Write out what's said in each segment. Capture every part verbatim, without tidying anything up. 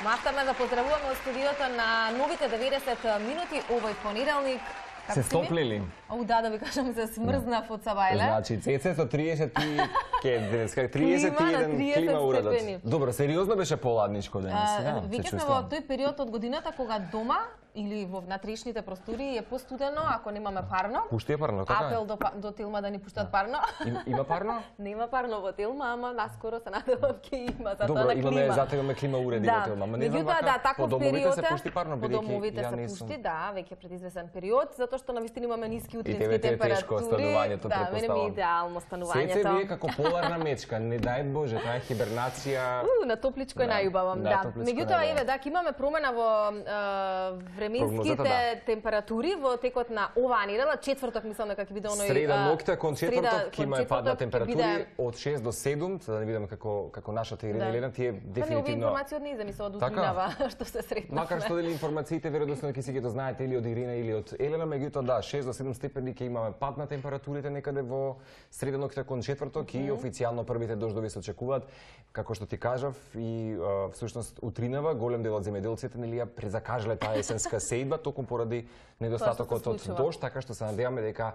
Наставаме да поздравуваме од студиото на новите деветдесет минути овој понеделник. Се стоплили? О, да, да ви кажам, се смрзнав од Сабајле. Значи, Цеце со триесет и триесет и еден клима уредот. Добро, сериозно беше поладничко денес. Веќе сме во тој период од годината кога дома или во внатрешните простори е постудено, ако немаме парно. Пушти е парно, така е? Апел до, до Телма да ни пуштат парно. Им, има парно? Нема парно во Телма, ама наскоро се надевам ќе има, затоа Добро, на клима. имаме, затегаме клима уреди да. во Телма. Ама не знам Меѓутоа, да, таков по домовите период се пушти парно, по домовите ја се не пушти, сум. да, веќе пред извесен период, затоа што навистина имаме ниски утрински тебе температури. е тешко станувањето, да, мене ми е претпоставам. идеално станувањето. Цеце вие како поларна мечка, не дај Боже, таа е хибернација. У, на топличко е Да, најубавам, да, да. топличко Меѓутоа, најубаво. еве, да, имаме промена во е, временските Прогнозата, да. температури во текот на оваа недела. Четврток мислам дека ќе биде оној Среда а, ноќта кон среда четврток ќе има кон падна четврток ќе температури биде- од шест до седум, за да не видам како како нашата Ирина Да. Елена, тие Па не, овие дефинитивно. информации од нејзе ми се од Така? утвинава што се сретнавме. Макар што дали информациите веројатно ќе си ги дознаете или од Ирина или од Елена, меѓутоа да, шест до седум степени ќе имаме пад на температурите некаде во среда ноќта кон четврток mm -hmm. и официјално првите дождови се очекуваат. Како што ти кажав и а, всушност утринава голем дел од земјоделците нели ја презакажале таа есенска сејба токму поради недостатокот од случува. дожд, така што се надеваме дека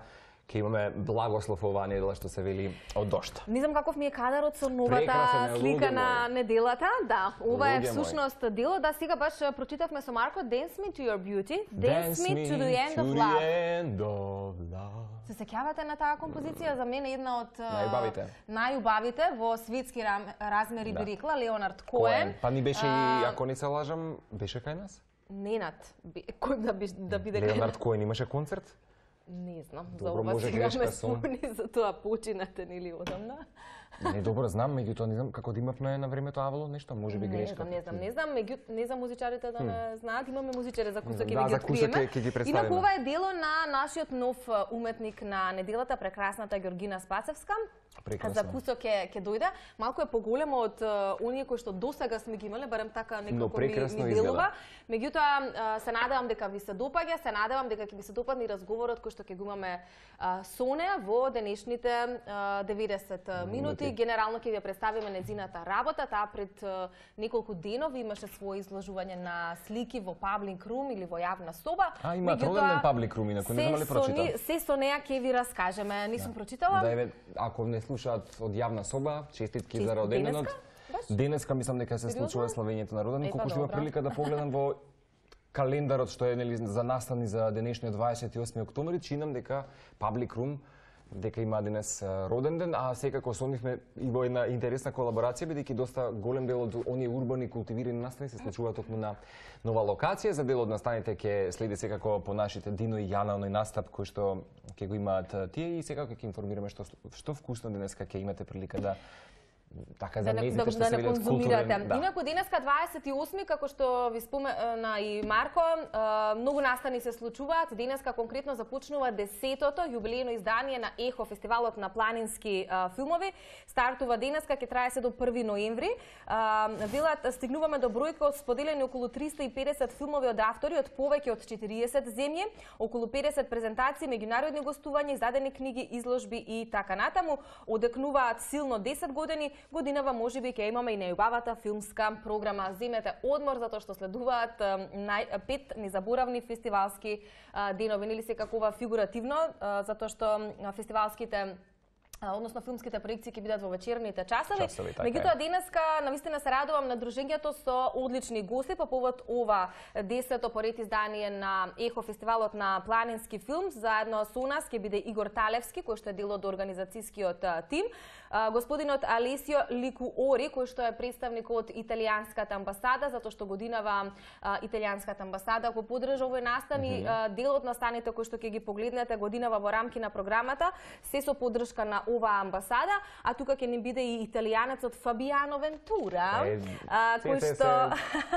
ќе имаме благослов оваа недела што се вели од дожд. Не знам каков ми е кадарот со новата Прекрасен е, слика луѓе на мои. неделата. Да, ова е Луѓе всушност дело. Да, сега баш прочитавме со Марко Dance Me to Your Beauty, Dance, me to the End to of the Love. end of love. Се сеќавате на таа композиција? За мене една од а, Најубавите. најубавите во светски рам, размери Да. би рекла Леонард Коен. Па ни беше А, и, ако не се лажам, беше кај нас? Ненад, би- кој да, би, да биде кај Леонард Коен имаше концерт? Не знам, за Добро, ова може сега грешка ме сум. спомни, за тоа починате нели одамна. Не, добро, знам, меѓутоа не знам како да имавме на времето авало нешто, може би Не грешка. знам, не знам, не знам, меѓу не знам музичарите да не знаат, имаме музичари за кусок ќе Да, ви за ги кусок откриеме. ќе- ќе ги Инаку представиме. ова е дело на нашиот нов а, уметник на неделата, прекрасната Ѓоргина Спасевска. Прекрасно. За кусок ќе ќе дојде. Малку е поголемо од а, оние кои што досега сме ги имале, барем така Но некако ми, прекрасно ми изгледа. делува. Меѓутоа а, се надевам дека ви се допаѓа, се надевам дека ќе ви се допадне и разговорот кој што ќе го имаме а, со неа во денешните а, деветдесет минути. Генерално ќе ви ја представиме нејзината работа. Таа пред а, неколку денови имаше свое изложување на слики во Public Room или во јавна соба. А, има Меѓутоа, роденден Public Room, инаку не се знам ли со прочита. ни- Се со неа ќе ви раскажеме. Нисам прочитала. Да, еве, ако не слушаат од јавна соба, честитки Честит за роденденот. денеска, баш? Денеска мислам дека се Сериозно? случува славењето на роденден, Епа, колку што има добро. прилика да погледам во календарот што е нели за настани за денешниот дваесет и осми октомври, чинам дека Public Room дека има денес а, роден ден, а секако сонивме и во една интересна колаборација, бидејќи доста голем дел од оние урбани култивирани настани се случуваат токму на нова локација. За дел од настаните ќе следи секако по нашите Дино и Јана оној настап кој што ќе го имаат а, тие и секако ќе информираме што што вкусно денеска ќе имате прилика да така за да не, мезите да, што да се не видат конзумирате. културен. Да. Инаку денеска дваесет и осми, како што ви спомена и Марко, а, многу настани се случуваат. Денеска конкретно започнува десетото јубилејно издание на ЕХО, фестивалот на планински а, филмови. Стартува денеска, ќе трае се до први ноември. А, велат, стигнуваме до бројка од споделени околу триста и педесет филмови од автори од повеќе од четириесет земји, околу педесет презентации, меѓународни гостувања, издадени книги, изложби и така натаму. Одекнуваат силно десет години. Годинава можеби ќе имаме и најубавата филмска програма. Земете одмор затоа што следуваат а, нај, пет незаборавни фестивалски а, денови, нели секакова фигуративно, а, затоа што а, фестивалските а, односно филмските проекции ќе бидат во вечерните часови. Часови, така Меѓутоа е. денеска навистина се радувам на дружењето со одлични гости по повод ова десето поред издание на ЕХО, фестивалот на планински филм. Заедно со нас ќе биде Игор Талевски, кој што е дел од организацијскиот а, тим, а, господинот Алесио Ликуори, кој што е представник од италијанската амбасада, затоа што годинава а, италијанската амбасада го поддржа овој настан и а, дел од настаните кои што ќе ги погледнете годинава во рамки на програмата се со поддршка на оваа амбасада, а тука ќе ни биде и италијанецот Фабиано Вентура, Е, а, кој се- што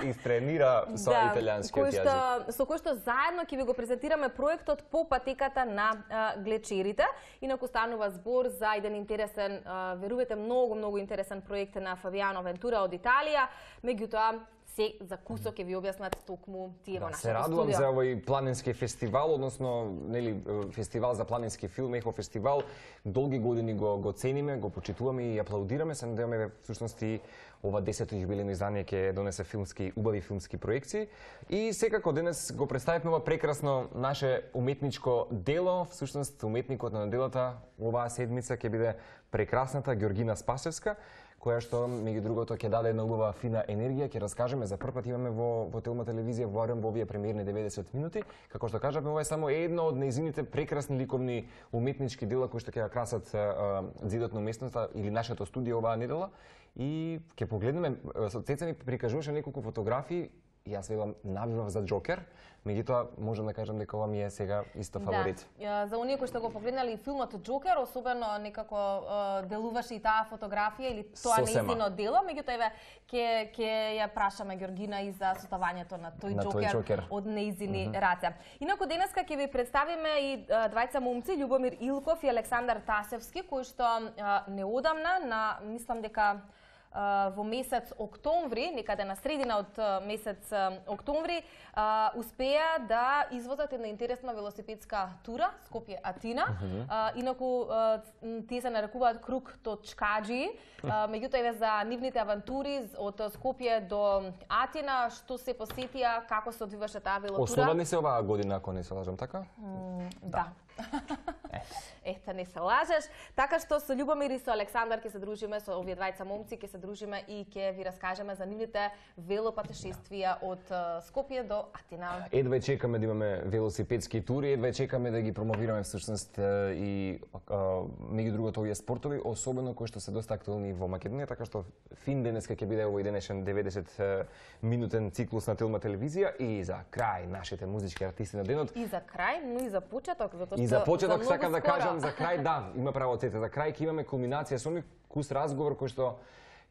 се истренира со италијанскиот кој што јазик. со кој што заедно ќе ви го презентираме проектот по патеката на а, глечерите. Инаку станува збор за еден интересен, а, верувате, многу многу интересен проект на Фабиано Вентура од Италија. Меѓутоа се за кусок ќе ви објаснат токму тие во Да, нашето се радувам студио. за овој планински фестивал, односно нели фестивал за планински филм, Ехо фестивал. Долги години го го цениме, го почитуваме и аплаудираме. Се надеваме всушност и ова десето јубилејно издание ќе донесе филмски убави филмски проекции и секако денес го представивме ова прекрасно наше уметничко дело. Всушност уметникот на неделата оваа седмица ќе биде прекрасната Ѓоргина Спасевска, која што меѓу другото ќе даде една убава фина енергија, ќе раскажеме за прв пат имаме во во Телма телевизија во во овие премиерни деветдесет минути. Како што кажавме, ова е само едно од нејзините прекрасни ликовни уметнички дела кои што ќе ја красат а, зидот на уместноста или нашето студио оваа недела. И ќе погледнеме, Цеца ми прикажуваше неколку фотографии, и јас велам навивав за Џокер, меѓутоа можам да кажам дека ова ми е сега исто фаворит. Да. За оние кои што го погледнали филмот Џокер, особено некако uh, делуваше и таа фотографија или тоа нејзино дело, меѓутоа еве ќе ќе ја прашаме Ѓоргина и за составањето на тој на Џокер, Џокер од нејзини mm -hmm. раце. Инаку денеска ќе ви представиме и uh, двајца момци, Љубомир Илков и Александар Тасевски, кои што uh, неодамна на мислам дека во месец октомври, некаде на средина од месец октомври, успеа да извозат една интересна велосипедска тура Скопје-Атина. Uh -huh. Инаку тие се нарекуваат Круг точкаджи. Меѓутоа еве за нивните авантури од Скопје до Атина, што се посетија, како се одвиваше таа велотура. Основани се оваа година, ако не се лажам, така? Mm, да. Ете, не се лажеш. Така што со Љубомир и со Александар ќе се дружиме, со овие двајца момци ќе се дружиме и ќе ви раскажеме за нивните велопатешествија од Скопје до Атина. Едве чекаме да имаме велосипедски тури, едве чекаме да ги промовираме всушност и меѓу другото овие спортови, особено кои што се доста актуелни во Македонија, така што фин денеска ќе биде овој денешен деветдесет минутен циклус на Телма телевизија и за крај нашите музички артисти на денот. И за крај, но и за почеток, затоа што и за почеток за сакам да скоро. кажам за крај, да, има право Цеца, за крај ќе имаме кулминација со нив, кус разговор кој што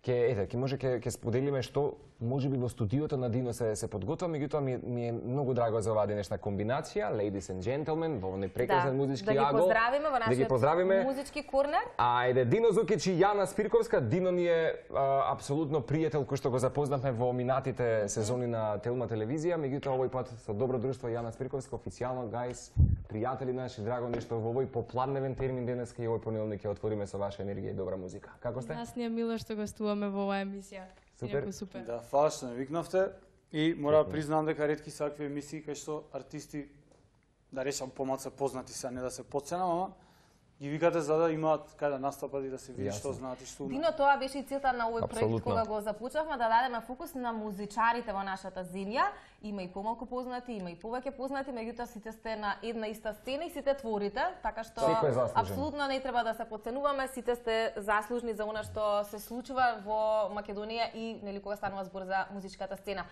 ќе ете, ќе може ќе ќе споделиме што можеби во студиото на Дино се се подготвува, меѓутоа ми, ми е многу драго за оваа денешна комбинација, ladies and gentlemen, во овој прекрасен да, музички да ги агол. поздравиме во нашиот да ги поздравиме. музички корнер. Ајде, Дино Зукич и Јана Спирковска. Дино ми е а, апсолутно пријател кој што го запознавме во минатите сезони на Телма телевизија, меѓутоа овој пат со добро друштво Јана Спирковска, официјално гајс, пријатели наши, драго ми што во овој попладневен термин денеска и овој понеделник ќе отвориме со ваша енергија и добра музика. Како сте? Нас ни е мило што гостуваме во оваа емисија. Супер. супер. Да, фала што ме викнавте и мора да признам дека ретки се акви емисии кај што артисти да речам помалку познати се, не да се подценам, ама ги викате за да имаат кај да настапат и да се види што знаат и што умеат. Дино, тоа беше и целта на овој проект Апсолутно. кога го започнавме, да дадеме фокус на музичарите во нашата земја. Има и помалку познати, има и повеќе познати, меѓутоа сите сте на една иста сцена и сите творите, така што Секој е заслужен. апсолутно не треба да се подценуваме, сите сте заслужни за она што се случува во Македонија и нели кога станува збор за музичката сцена.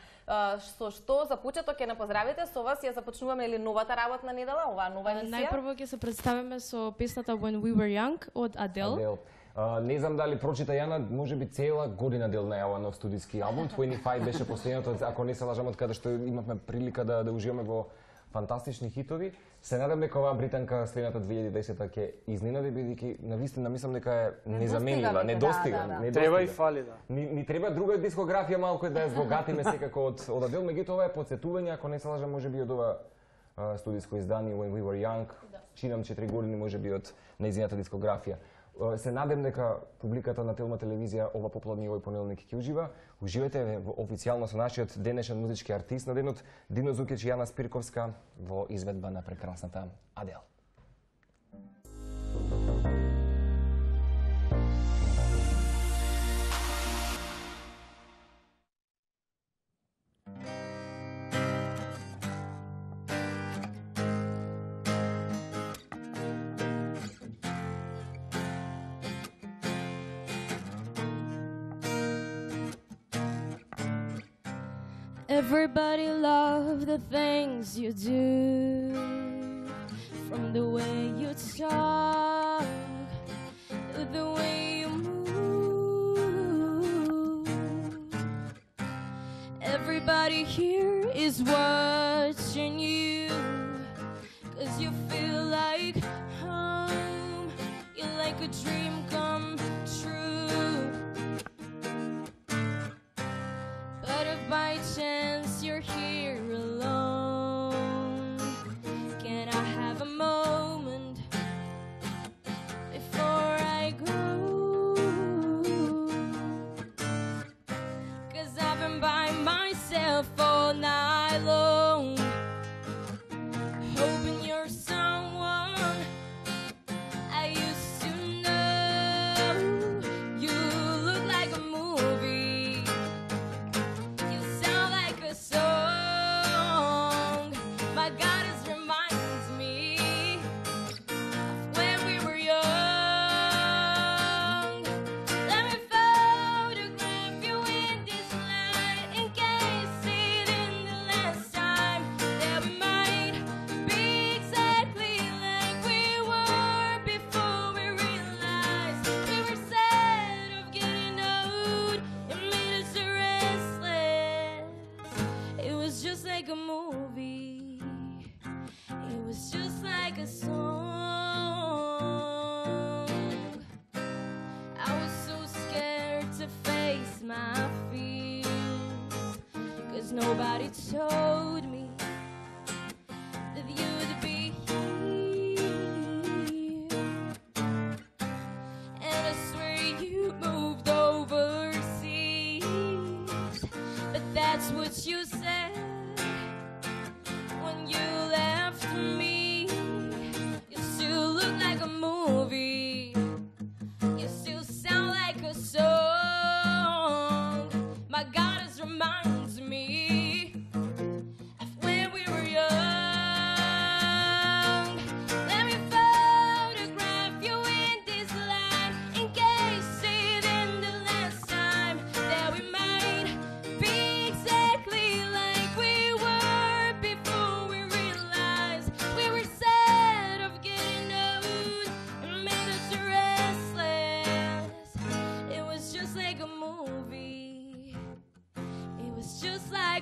Со што за почеток ќе не поздравите, со вас ја започнуваме или новата работна недела, оваа нова емисија. Најпрво ќе се представиме со песната When We Were Young од Адел. Адел. Uh, не знам дали прочита Јана, може би цела година дел најава нов студиски албум. дваесет и пет беше последното, ако не се лажам, од каде што имавме прилика да, да уживаме во фантастични хитови. Се надам дека оваа британка следната две илјади и десета ќе изненади, бидејќи навистина мислам дека е незаменлива, недостига. Да, да, да. недостига. Треба и фали, да. Ни, ни треба друга дискографија малку да ја збогатиме секако од од Адел, меѓутоа ова е потсетување, ако не се лажам, можеби од ова uh, студиско издание When We Were Young, да. Чинам четири години можеби од нејзината дискографија. Се надем дека публиката на Телма телевизија ова попладни овој понеделник ќе ужива. Уживате официјално со нашиот денешен музички артист на денот Дино Зукич и Јана Спирковска во изведба на прекрасната Адел. Everybody love the things you do, from the way you talk to the way you move. Everybody here is watching you, 'cause you feel like home, you're like a dream come true. But if by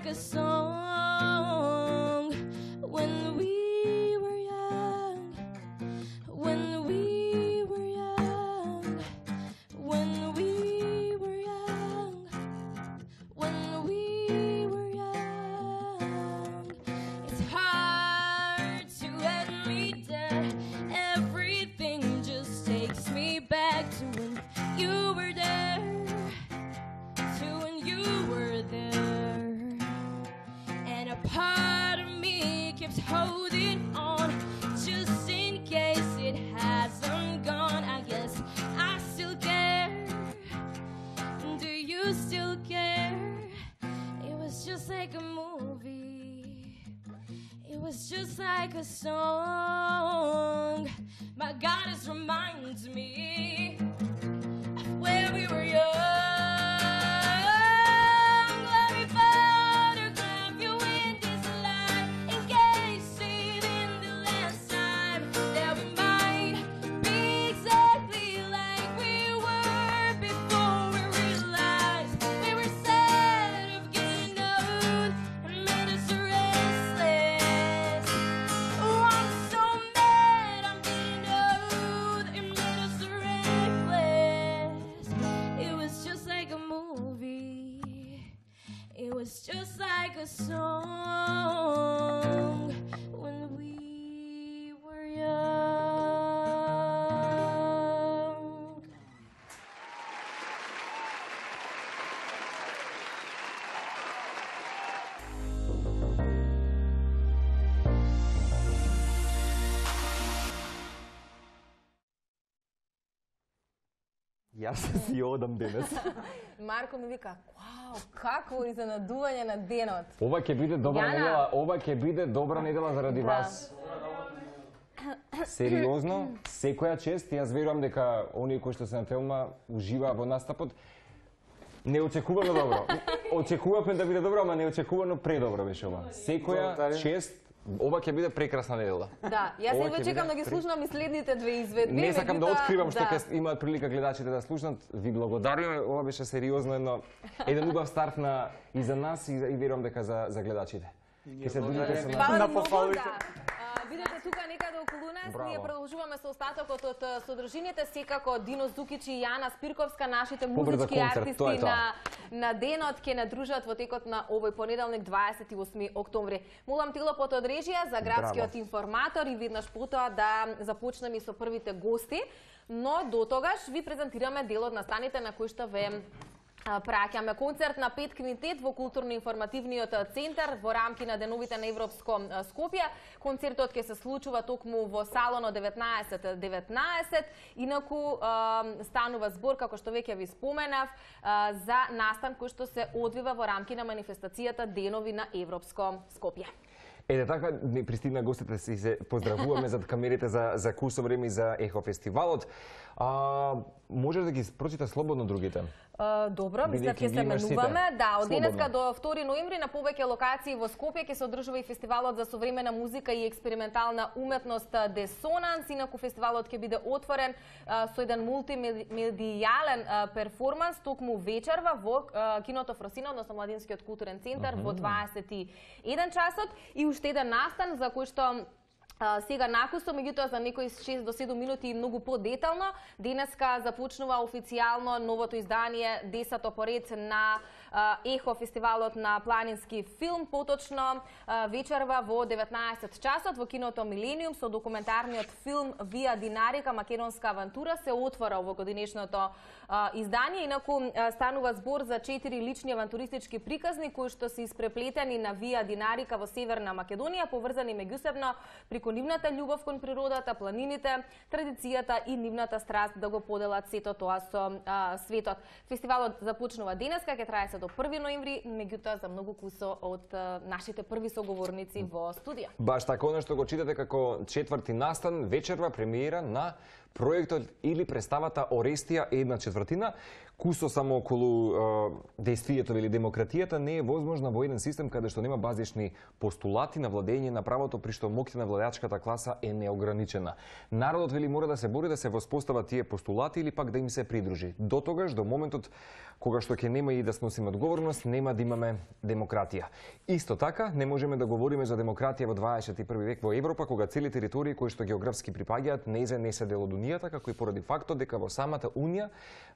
like a song when we were young, when we were young, when we were young, when we were young. It's hard to admit that everything just takes me back to when you were there, to when you were there. And a part of me keeps holding on just in case it hasn't gone. I guess I still care. Do you still care? It was just like a movie. It was just like a song. My goddess reminds me of when we were young. Let me photograph you in this light, encased in the last time that we might be exactly like we were before we realized we were sad of getting old and made us restless. Oh, I'm so mad I'm getting old and made us reckless. It was just like a movie. It was just like a song when we were young. Јас си одам денес. Марко ми вика, вау, какво изненадување на денот. Ова ќе биде добра Јана. недела, ова ќе биде добра недела заради Да. вас. Сериозно, секоја чест, јас верувам дека оние кои што се на филма уживаа во настапот. Не очекувано добро. Очекувавме да биде добро, ама не очекувано предобро беше ова. Секоја Благодарим. чест, ова ќе биде прекрасна недела. Да, јас Ова едва ќе чекам биде да ги пре- слушнам и следните две изведби. Не сакам да меѓутоа, откривам што да. ќе имаат прилика гледачите да слушнат. Ви благодариме, ова беше сериозно едно еден убав старт на и за нас и, за- и верувам дека за за гледачите. Ќе се движите со нас. Фала На ви многу, пофалите. да. А, Видете тука некаде околу нас, Браво. ние продолжуваме со остатокот од а, содржините, секако Дино Зукич и Јана Спирковска, нашите Побрза музички концерт, артисти тоа е тоа. на на денот ќе надружат во текот на овој понеделник дваесет и осми октомври. Молам Тилопот од режија за градскиот Браво. информатор и веднаш потоа да започнеме со првите гости, но до тогаш ви презентираме дел од настаните на кои што ве а, праќаме. Концерт на Пет Квинтет во културно-информативниот центар во рамки на деновите на Европско а, Скопје. Концертот ќе се случува токму во салоно деветнаесет деветнаесет. Инаку а, станува збор, како што веќе ви споменав, а, за настан кој што се одвива во рамки на манифестацијата Денови на Европско Скопје. Ете така, не пристигна гостите си се поздравуваме зад камерите за за курсо време и за Ехо фестивалот. А, можеш да ги прочита слободно другите? Uh, добро, мислам Бидејќи ќе ги се имаш сите. менуваме. Да, од Слободно. денеска до втори ноември на повеќе локации во Скопје ќе се одржува и фестивалот за современа музика и експериментална уметност Десонанс. Инаку фестивалот ќе биде отворен а, со еден мултимедијален а, перформанс токму вечерва во а, киното Фросина, односно Младинскиот културен центар во дваесет и еден часот и уште еден настан за кој што А, сега накусо, меѓутоа за некои шест до седум минути многу подетално. Денеска започнува официјално новото издание, десето поред на а, Ехо фестивалот на планински филм, поточно а, вечерва во деветнаесет часот во киното Милениум со документарниот филм Вија Динарика, македонска авантура се отвора во годинешното а, издание. Инаку а, станува збор за четири лични авантуристички приказни кои што се испреплетени на Вија Динарика во Северна Македонија, поврзани меѓусебно преку нивната љубов кон природата, планините, традицијата и нивната страст да го поделат сето тоа со а, светот. Фестивалот започнува денеска, ќе трае се до први ноември, меѓутоа за многу кусо од а, нашите први соговорници во студија. Баш така, оно што го читате како четврти настан, вечерва премиера на Проектот или представата Орестија е една четвртина, кусо само околу е, действието или демократијата не е возможна во еден систем каде што нема базични постулати на владење на правото, при што моќта на владеачката класа е неограничена. Народот вели мора да се бори да се воспостават тие постулати или пак да им се придружи. До тогаш, до моментот кога што ќе нема и да сносиме одговорност, нема да имаме демократија. Исто така, не можеме да говориме за демократија во дваесет и први век во Европа, кога цели територии кои што географски припаѓаат незе не се дел од Унијата, како и поради фактот дека во самата Унија,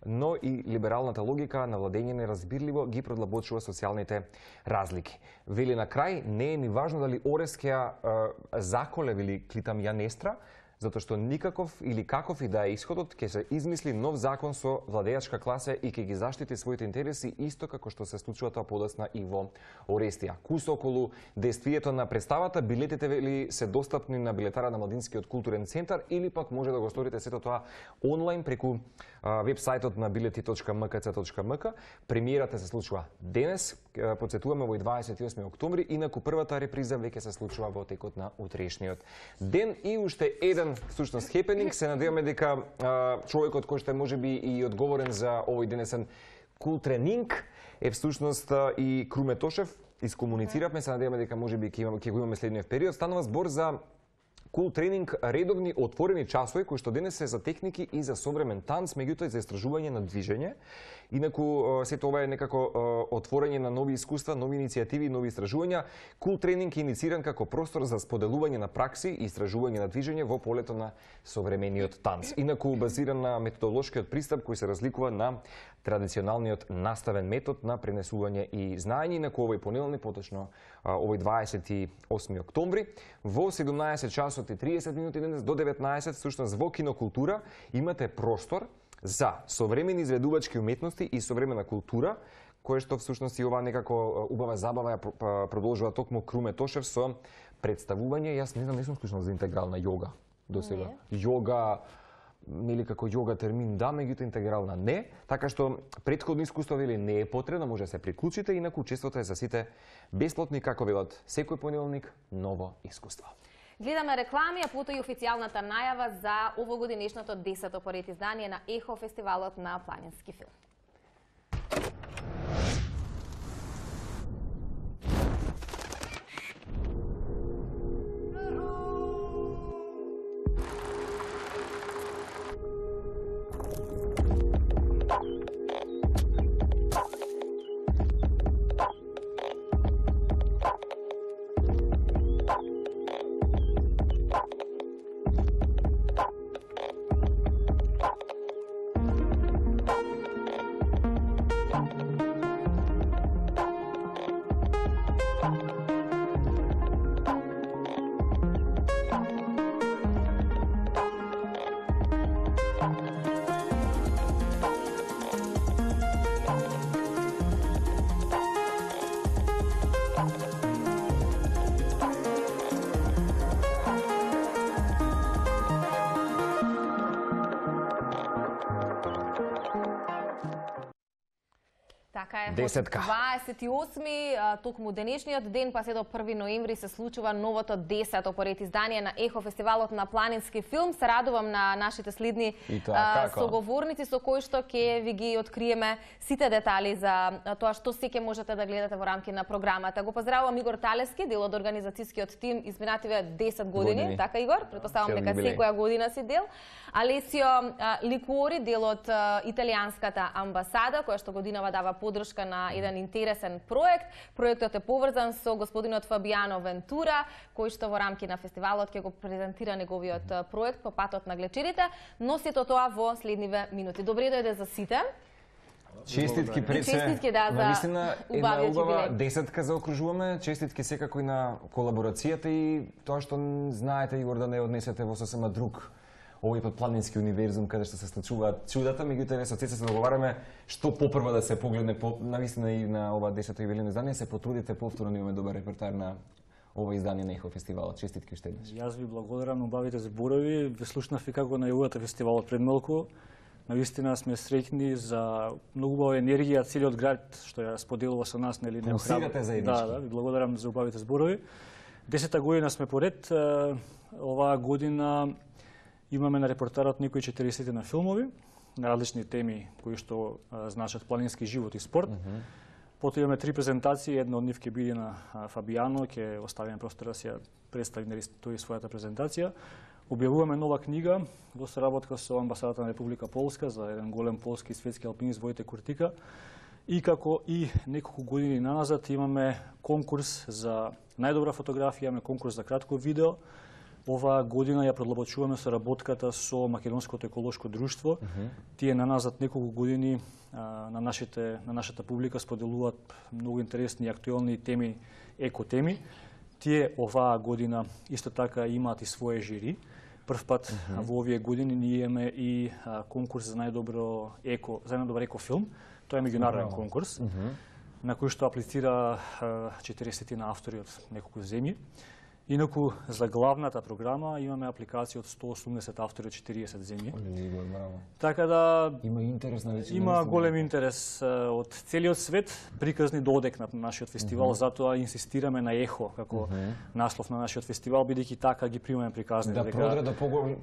но и либералната логика на владење неразбирливо ги продлабочува социјалните разлики. Вели на крај, не е ни важно дали Орест ќе заколе или Клитамјанестра, затоа што никаков или каков и да е исходот, ќе се измисли нов закон со владеачка класа и ќе ги заштити своите интереси исто како што се случува тоа подоцна и во Орестија. Кусо околу действието на представата, билетите вели се достапни на билетара на Младинскиот културен центар или пак може да го сторите сето тоа онлайн преку вебсајтот на билети точка м к ц точка м к. Премиерата се случува денес, потсетуваме во дваесет и осми октомври, инаку првата реприза веќе се случува во текот на утрешниот ден. И уште еден всушност хепенинг, се надеваме дека а, човекот кој што е можеби и одговорен за овој денесен култренинг е всушност а, и Круме Тошев. Искомунициравме, се надеваме дека можеби ќе имаме ќе го имаме следниот период. Станува збор за Кул тренинг, редовни отворени часови кои што денес се за техники и за современ танц, меѓутоа и за истражување на движење. Инаку сето ова е некако отворење на нови искуства, нови иницијативи, нови истражувања. Кул тренинг е иницииран како простор за споделување на пракси и истражување на движење во полето на современиот танц. Инаку базиран на методолошкиот пристап кој се разликува на традиционалниот наставен метод на пренесување и знаење. Инаку овој понеделник, поточно овој дваесет и осми октомври, во седумнаесет часот и триесет минути денес до деветнаесет, всушност во Кинокултура имате простор за современи изведувачки уметности и современа култура, кое што всушност и ова некако убава забава ја продолжува токму Круме Тошев со представување. Јас не знам, не сум слушнал за интегрална јога до сега. Јога или како јога термин да, меѓутоа интегрална не, така што претходно искуство вели не е потребно, може да се приклучите, инаку учеството е за сите бесплатни, како велат секој понеделник, ново искуство. Гледаме реклами, а потоа и официјалната најава за овогодинешното десето поред издание на Ехо фестивалот на планински филм. Така е, Десетка. дваесет и осми, токму денешниот ден, па се до први ноември се случува новото десето поред издание на Ехо фестивалот на планински филм. Се радувам на нашите следни а, соговорници со кои што ќе ви ги откриеме сите детали за тоа што се ќе можете да гледате во рамки на програмата. Го поздравувам Игор Талевски, дел од организацијскиот тим изминативе десет години, години. Така Игор, претпоставам дека секоја година си дел. Алесио Ликуори, дел од италијанската амбасада, која што годинава дава подршка на еден интересен проект. Проектот е поврзан со господинот Фабијано Вентура, кој што во рамки на фестивалот ќе го презентира неговиот проект по патот на глечерите, но сето тоа во следниве минути. Добре дојде за сите. Честитки пред се. Честитки, да, за наистина една убава десетка заокружуваме. Честитки секако и на колаборацијата и тоа што знаете, Игор, да не однесете во сосема друг овој пат планински универзум каде што се случуваат чудата, меѓутоа со се договараме што попрво да се погледне по навистина и на ова десето юбилејно издание, се потрудите повторно, имаме добар репертоар на ова издание на Ехо фестивалот. Честитки уште еднаш. Јас ви благодарам на убавите зборови. Ве слушнав и како најавувате фестивалот пред малку. Навистина сме среќни за многу убава енергија целиот град што ја споделува со нас, нели не охрабрувате заеднички. Да, да, ви благодарам за убавите зборови. Десета година сме поред. Оваа година Имаме на репортарот некои четириесет на филмови на различни теми кои што а, значат планински живот и спорт. Mm -hmm. Потоа имаме три презентации, една од нив ќе биде на а, Фабијано, ќе оставиме простор да се представи на тој својата презентација. Објавуваме нова книга во соработка со амбасадата на Република Полска за еден голем полски и светски алпинист Војтех Куртика. И како и неколку години наназад имаме конкурс за најдобра фотографија, имаме конкурс за кратко видео. Оваа година ја продлабочуваме соработката со Македонското еколошко друштво. Mm -hmm. Тие наназад неколку години а, на нашите на нашата публика споделуваат многу интересни и актуелни теми, екотеми. Тие оваа година исто така имаат и свое жири. Прв пат mm -hmm. во овие години ние имаме и а, конкурс за најдобро еко, за најдобар екофилм. Тоа е меѓународен wow. конкурс, mm -hmm. на кој што аплицира четириесет на автори од неколку земји. Инаку за главната програма имаме апликација од сто осумдесет автори од четириесет земји. Така да има интерес на веќе. Има голем интерес од целиот свет, приказни додек на нашиот фестивал, mm -hmm. затоа инсистираме на ехо како mm -hmm. наслов на нашиот фестивал, бидејќи така ги примаме приказни. Да продре до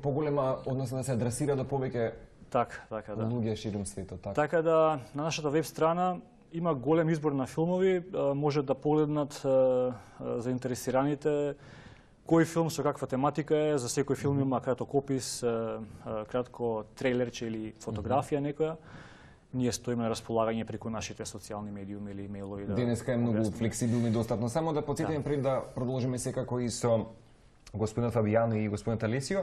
поголема, односно да се адресира до повеќе така, така да. луѓе ширум светот, така. Така да на нашата веб страна има голем избор на филмови, може да погледнат заинтересираните кој филм со каква тематика е, за секој филм има краток опис, кратко трейлерче или фотографија некоја. Ние стоиме на располагање преку нашите социјални медиуми или имејлови. Да денеска е многу флексибилно и достапно. Само да потсетиме пред да продолжиме секако и со господинот Фабијано и господинот Алесио.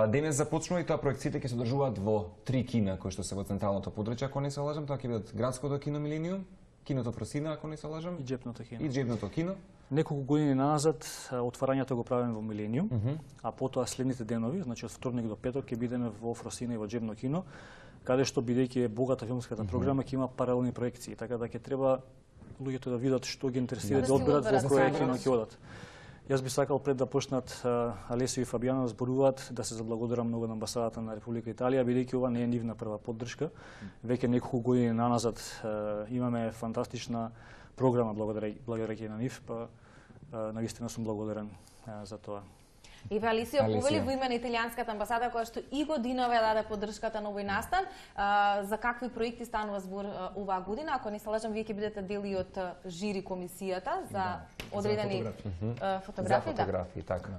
Денес започнува и тоа проекциите ќе се одржуваат во три кина кои што се во централното подрачје, ако не се лажам, тоа ќе бидат Градското кино Милениум, киното Просина, ако не се лажам, и Џепното кино. И Џепното кино. Неколку години назад отварањето го правиме во Милениум, mm -hmm. а потоа следните денови, значи од вторник до петок ќе бидеме во Фросина и во Џепно кино, каде што бидејќи е богата филмската mm -hmm. програма ќе има паралелни проекции, така да ќе треба луѓето да видат што ги интересира, да одберат во кој кино ќе одат. Јас би сакал пред да почнат Алесио и Фабијано да зборуваат да се заблагодарам многу на амбасадата на Република Италија, бидејќи ова не е нивна прва поддршка. Веќе неколку години наназад имаме фантастична програма благодарејќи на нив, па навистина сум благодарен за тоа. Еве Алесио повели во име на италијанската амбасада која што и годинове даде поддршката на овој настан. А, за какви проекти станува збор оваа година? Ако не се лажам, вие ќе бидете дел и од жири комисијата за да, одредени за фотографии. фотографии, за фотографии, да. така.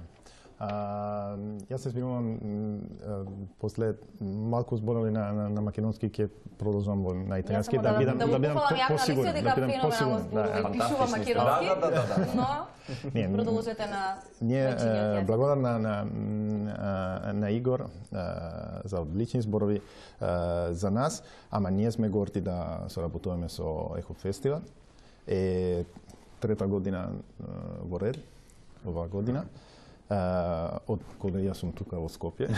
А, јас се збирувам после малку зборови на, на, на македонски ќе продолжам во на италијански да, да бидам да бидам посигурен, да бидам посигурен, да пишува македонски. Да, да, да, да. Но не, продолжете на ние благодарам на на на Игор за одлични зборови за нас, ама ние сме горди да соработуваме со Ехо Фестивал. Е трета година во ред оваа година. Uh, од кога јас сум тука во Скопје.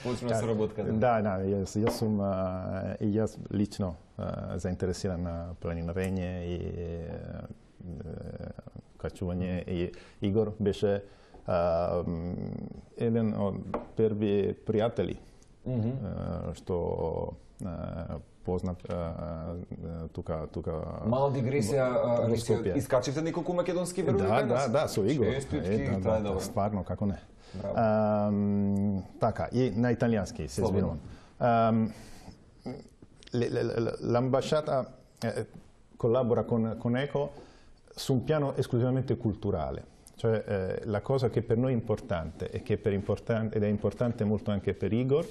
Почна соработката. Да, да, јас, јас сум uh, и јас лично uh, заинтересиран на планинарење и uh, качување и Игор беше uh, еден од први пријатели mm -hmm. uh, што uh, познат тука тука мала дигресија, искачивте неколку македонски верови да, денес? Да, да, со Игор. Честитки, е, да, да, да, стварно, како не. А, така, и на италијански се збирувам. L'ambasciata collabora con, con ECO su un piano esclusivamente culturale. Cioè eh, la cosa che per noi è importante e che per importante, ed è importante molto anche per Igor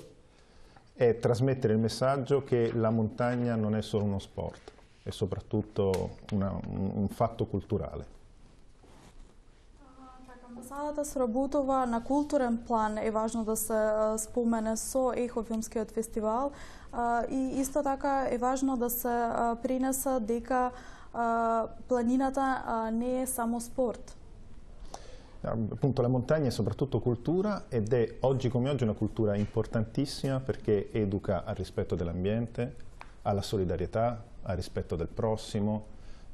è trasmettere il messaggio che la montagna non è solo uno sport, è soprattutto una, un, un fatto culturale. Амбасадата сработува на културен план, е важно да се спомене со Ехо филмскиот фестивал и исто така е важно да се принесе дека планината не е само спорт. Appunto la montagna è soprattutto cultura ed è oggi come oggi una cultura importantissima perché educa al rispetto dell'ambiente, alla solidarietà, al rispetto del prossimo,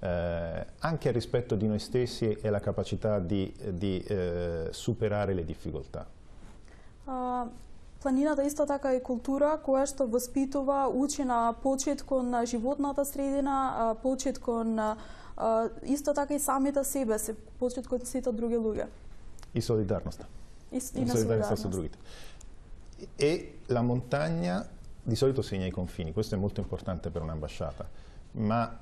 eh, anche al rispetto di noi stessi e alla capacità di, di eh, superare le difficoltà. Uh, планината исто така е култура која што воспитува, учи на почит кон животната средина, почит кон Uh, исто така и самите себе се почит кон сите други луѓе. И солидарноста. И, и, и солидарноста со другите. E la montagna di solito segna i confini, questo è molto importante per un'ambasciata, ma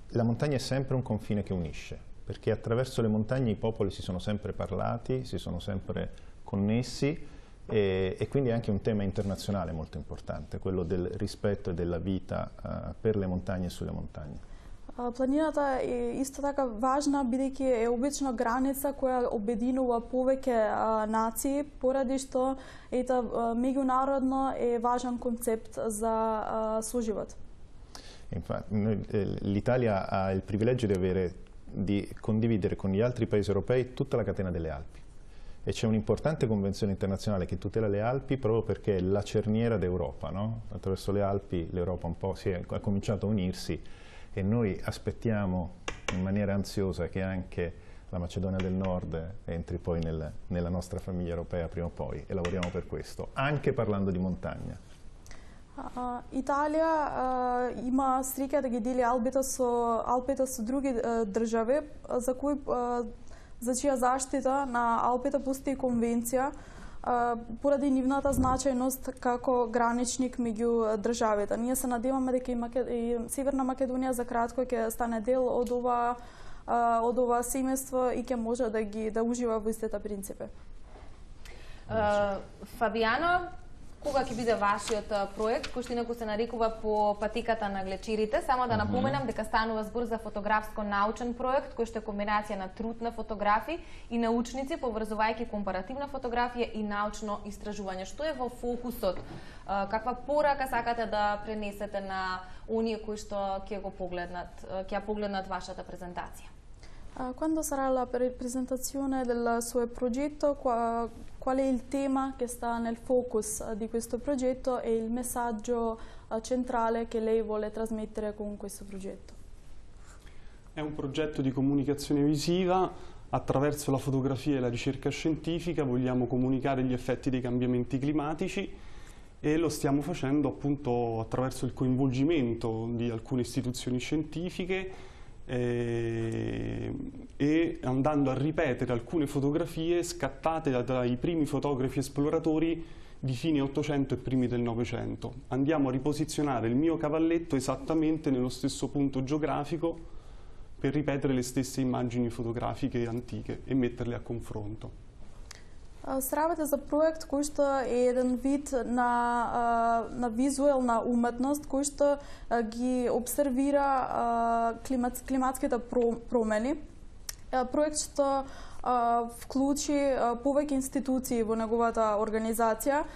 la montagna è sempre un confine che unisce, perché attraverso le montagne i popoli si sono sempre parlati, si sono sempre connessi e, e quindi è anche un tema internazionale molto importante, quello del rispetto e della vita uh, per le montagne e sulle montagne. Планината е исто така важна, бидејќи е обично граница која обединува повеќе нации, поради што ета меѓународно е важен концепт за соживот. L'Italia ha il privilegio di avere, di condividere con gli altri paesi europei tutta la catena delle Alpi e c'è un'importante convenzione internazionale che tutela le Alpi proprio perché è la cerniera d'Europa, no? Attraverso le Alpi l'Europa un po' si è, ha cominciato a unirsi e noi aspettiamo in maniera ansiosa che anche la Macedonia del Nord entri poi nel, nella nostra famiglia europea prima o poi e lavoriamo per questo, anche parlando di montagna. Uh, Италија uh, има среќа да ги дели Алпите со Алпите со други uh, држави за кои uh, за чија заштита на Алпите постои конвенција uh, поради нивната значајност како граничник меѓу државите. Ние се надеваме дека и, Макед... и Северна Македонија за кратко ќе стане дел од ова uh, од ова семејство и ќе може да ги да ужива во истите принципи. Uh, Фабијано, кога ќе биде вашиот проект, кој што инаку се нарекува По патиката на глечерите? Само да напоменам дека станува збор за фотографско-научен проект, кој што е комбинација на труд на фотографи и научници, поврзувајќи компаративна фотографија и научно истражување. Што е во фокусот? Каква порака сакате да пренесете на оние кои што ќе го poglеднат, ќе ја погледнат вашата презентација? Quando sarà la presentazione del suo progetto, qual è il tema che sta nel focus di questo progetto e il messaggio centrale che lei vuole trasmettere con questo progetto? È un progetto di comunicazione visiva. Attraverso la fotografia e la ricerca scientifica vogliamo comunicare gli effetti dei cambiamenti climatici e lo stiamo facendo appunto attraverso il coinvolgimento di alcune istituzioni scientifiche Eh, e andando a ripetere alcune fotografie scattate da, dai primi fotografi esploratori di fine Ottocento e primi del Novecento. Andiamo a riposizionare il mio cavalletto esattamente nello stesso punto geografico per ripetere le stesse immagini fotografiche antiche e metterle a confronto. Стравате за проект кој што е еден вид на, на визуелна уметност кој што ги обсервира климат, климатските промени. Проект што вклучи повеќе институции во неговата организација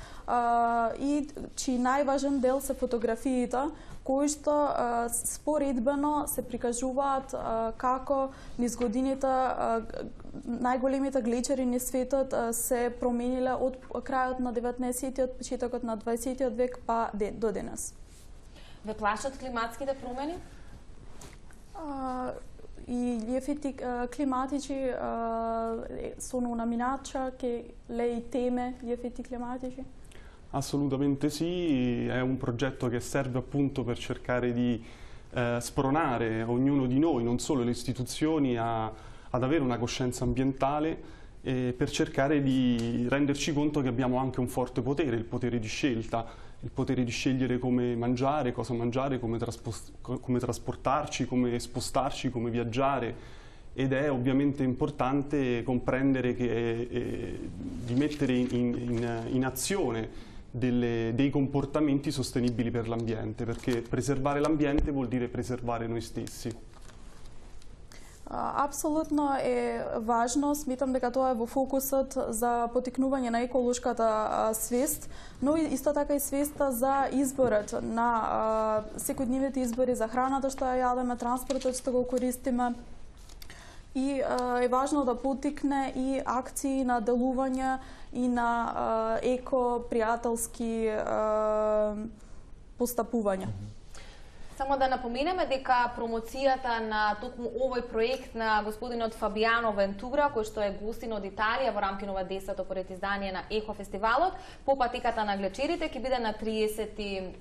и чиј најважен дел се фотографиите кои што споредбено се прикажуваат како низ годините најголемите глечери низ светот се промениле од крајот на деветнаесеттиот, почетокот на дваесеттиот век па до денес. Ве плашат климатските промени? I gli effetti uh, climatici uh, sono una minaccia che lei teme gli effetti climatici? Assolutamente sì, è un progetto che serve appunto per cercare di eh, spronare ognuno di noi, non solo le istituzioni, a, ad avere una coscienza ambientale e per cercare di renderci conto che abbiamo anche un forte potere, il potere di scelta, il potere di scegliere come mangiare, cosa mangiare, come, come trasportarci, come spostarci, come viaggiare ed è ovviamente importante comprendere che, eh, di mettere in, in, in azione delle, dei comportamenti sostenibili per l'ambiente, perché preservare l'ambiente vuol dire preservare noi stessi. Апсолутно е важно, сметам дека тоа е во фокусот за потикнување на еколошката свест, но исто така и свеста за изборот на секојдневните избори за храната што ја јадеме, транспортот што го користиме. И е важно да потикне и акции на делување и на еко-пријателски постапувања. Само да напоменеме дека промоцијата на токму овој проект на господинот Фабијано Вентура, кој што е гостин од Италија во рамки на ова десето поред издание на Ехо фестивалот, по патиката на глечерите ќе биде на триесети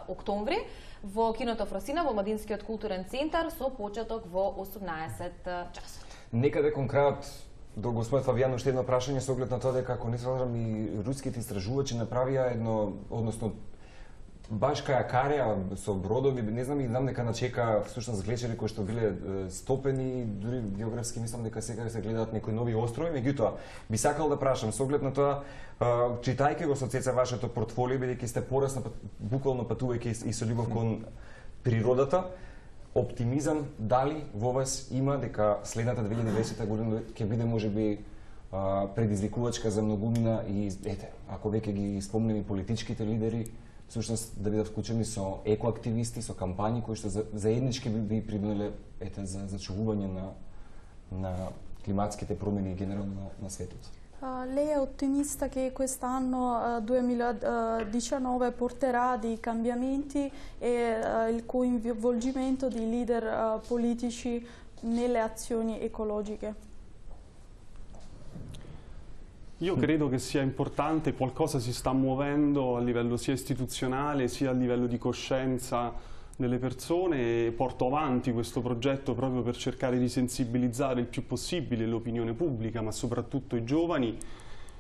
октомври во киното Фросина во Младинскиот културен центар со почеток во осумнаесет часот. Некаде кон крајот до господин Фабијано уште едно прашање со оглед на тоа дека, ако не се лажам, и руските истражувачи направија едно, односно баш кај Акарија со бродови, не знам и знам дека начека всушност глечери кои што биле е, стопени, дури географски мислам дека сега се гледаат некои нови острови, меѓутоа би сакал да прашам со оглед на тоа, е, читајќи го со Цеца вашето портфолио, бидејќи сте порасна буквално патувајќи и со љубов кон природата, оптимизам дали во вас има дека следната две илјади и дваесета година ќе биде можеби предизвикувачка за многумина и ете, ако веќе ги спомнем и политичките лидери, всушност да бидат вклучени со екоактивисти, со кампањи кои што заеднички би, би придонеле ете за зачувување на на климатските промени генерално на, на светот. Lei è ottimista che quest'anno uh, duemiladiciannove uh, porterà dei cambiamenti e uh, il coinvolgimento di leader uh, politici nelle azioni ecologiche? Io credo che sia importante, qualcosa si sta muovendo a livello sia istituzionale sia a livello di coscienza delle persone e porto avanti questo progetto proprio per cercare di sensibilizzare il più possibile l'opinione pubblica, ma soprattutto i giovani.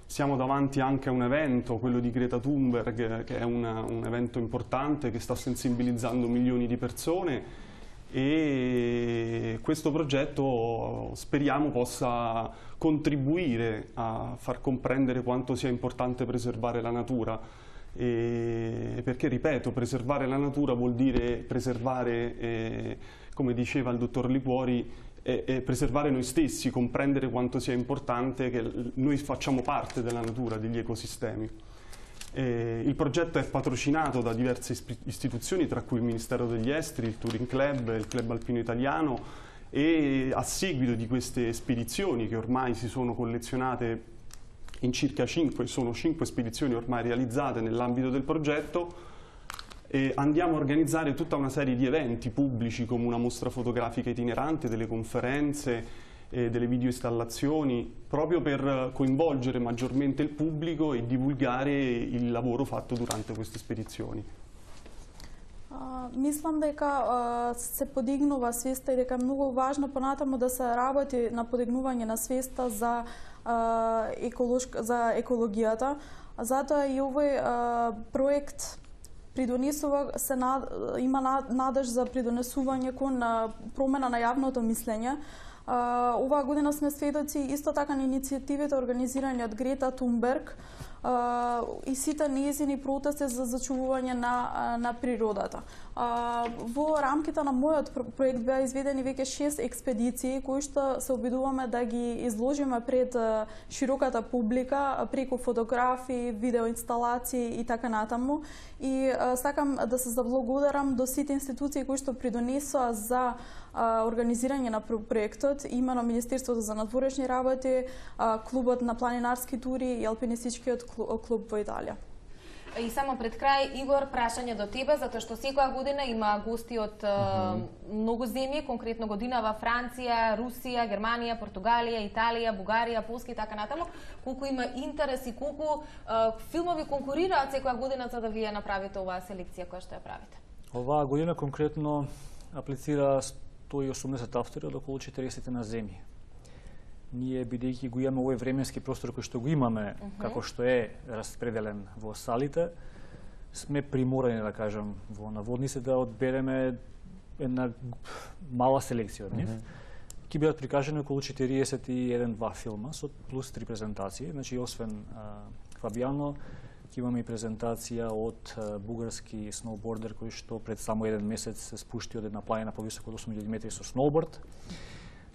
Siamo davanti anche a un evento, quello di Greta Thunberg, che è una, un evento importante che sta sensibilizzando milioni di persone e questo progetto speriamo possa contribuire a far comprendere quanto sia importante preservare la natura. E perché, ripeto, preservare la natura vuol dire preservare, eh, come diceva il dottor Liquori, eh, eh, preservare noi stessi, comprendere quanto sia importante che noi facciamo parte della natura, degli ecosistemi. Eh, il progetto è patrocinato da diverse istituzioni, tra cui il Ministero degli Esteri, il Touring Club, il Club Alpino Italiano, e a seguito di queste spedizioni che ormai si sono collezionate in circa cinque, sono cinque spedizioni ormai realizzate nell'ambito del progetto, e andiamo a organizzare tutta una serie di eventi pubblici come una mostra fotografica itinerante, delle conferenze, eh, delle videoinstallazioni, proprio per coinvolgere maggiormente il pubblico e divulgare il lavoro fatto durante queste spedizioni. Uh, мислам дека uh, се подигнува свеста и дека е многу важно понатаму да се работи на подигнување на свеста за uh, еколошка, за екологијата. Затоа и овој uh, проект придонесува се над, има надеж за придонесување кон uh, промена на јавното мислење. Uh, оваа година сме сведоци исто така на иницијативите организирани од Грета Тунберг uh, и сите нејзини протести за зачувување на, на природата. Uh, во рамките на мојот проект беа изведени веќе шест експедиции кои што се обидуваме да ги изложиме пред uh, широката публика преку фотографии, видеоинсталации и така натаму. И uh, сакам да се заблагодарам до сите институции кои што придонесоа за организирање на проектот, имено Министерството за надворешни работи, клубот на планинарски тури и алпинистичкиот клуб во Италија. И само пред крај, Игор, прашање до тебе, затоа што секоја година има гости од uh-huh. многу земји, конкретно година во Франција, Русија, Германија, Португалија, Италија, Бугарија, Полска и така натаму. Колку има интерес и колку uh, филмови конкурираат секоја година за да вие направите оваа селекција која што ја правите? Оваа година конкретно аплицира сто и осумдесет автори од околу четиридесет на земји. Ние, бидејќи го имаме овој временски простор кој што го имаме, uh-huh. како што е распределен во салите, сме приморани, да кажам, во наводници да одбереме една мала селекција од нив. Uh-huh. Ки бидат прикажани околу четириесет и еден два филма со плюс три презентации. Значи, освен а, Фабијано, имаме и презентација од а, бугарски сноубордер кој што пред само еден месец се спушти од една планина повисоко од осум илјади метри со сноуборд.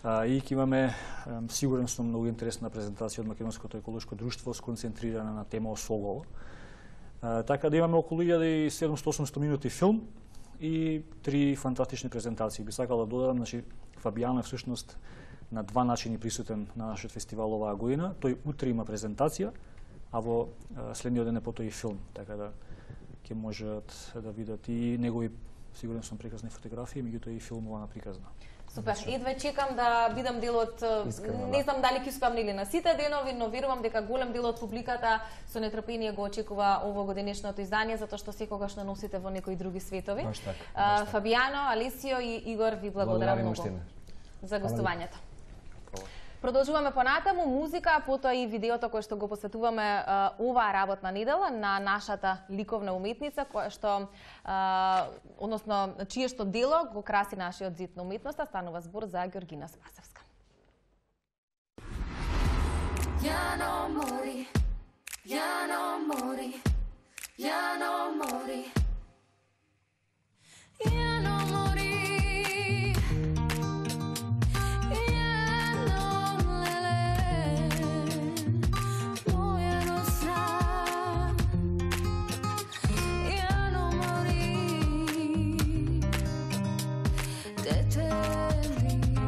А, и ќе имаме, а, сигурен сум, многу интересна презентација од Македонското еколошко друштво сконцентрирана на тема Осогово. А, така да имаме околу илјада и седумстотини до осумстотини минути филм и три фантастични презентации. Би сакал да додадам, значи Фабијано е всушност на два начини присутен на нашиот фестивал оваа година. Тој утре има презентација, а во следниот ден е потоа и филм, така да ќе можат да видат и негови, сигурен сум, прекрасни фотографии, меѓутоа и филмова приказна. Супер, едва чекам да бидам дел од, Искрено, не знам дали ќе успеам или на сите денови, но верувам дека голем дел од публиката со нетрпение го очекува овогодинешното издание, затоа што секогаш не носите во некои други светови. Баш така, а, Фабијано, Алесио и Игор, ви благодарам многу за гостувањето. Продолжуваме понатаму музика, потоа и видеото кое што го посветуваме а, оваа работна недела на нашата ликовна уметница, која што, а, односно, чие што дело го краси нашиот зид на уметноста, станува збор за Георгина Спасевска. Ya no morí, ya no morí, ya no morí, ya no morí, ya no lele, voy a gozar, ya no morí, te termino.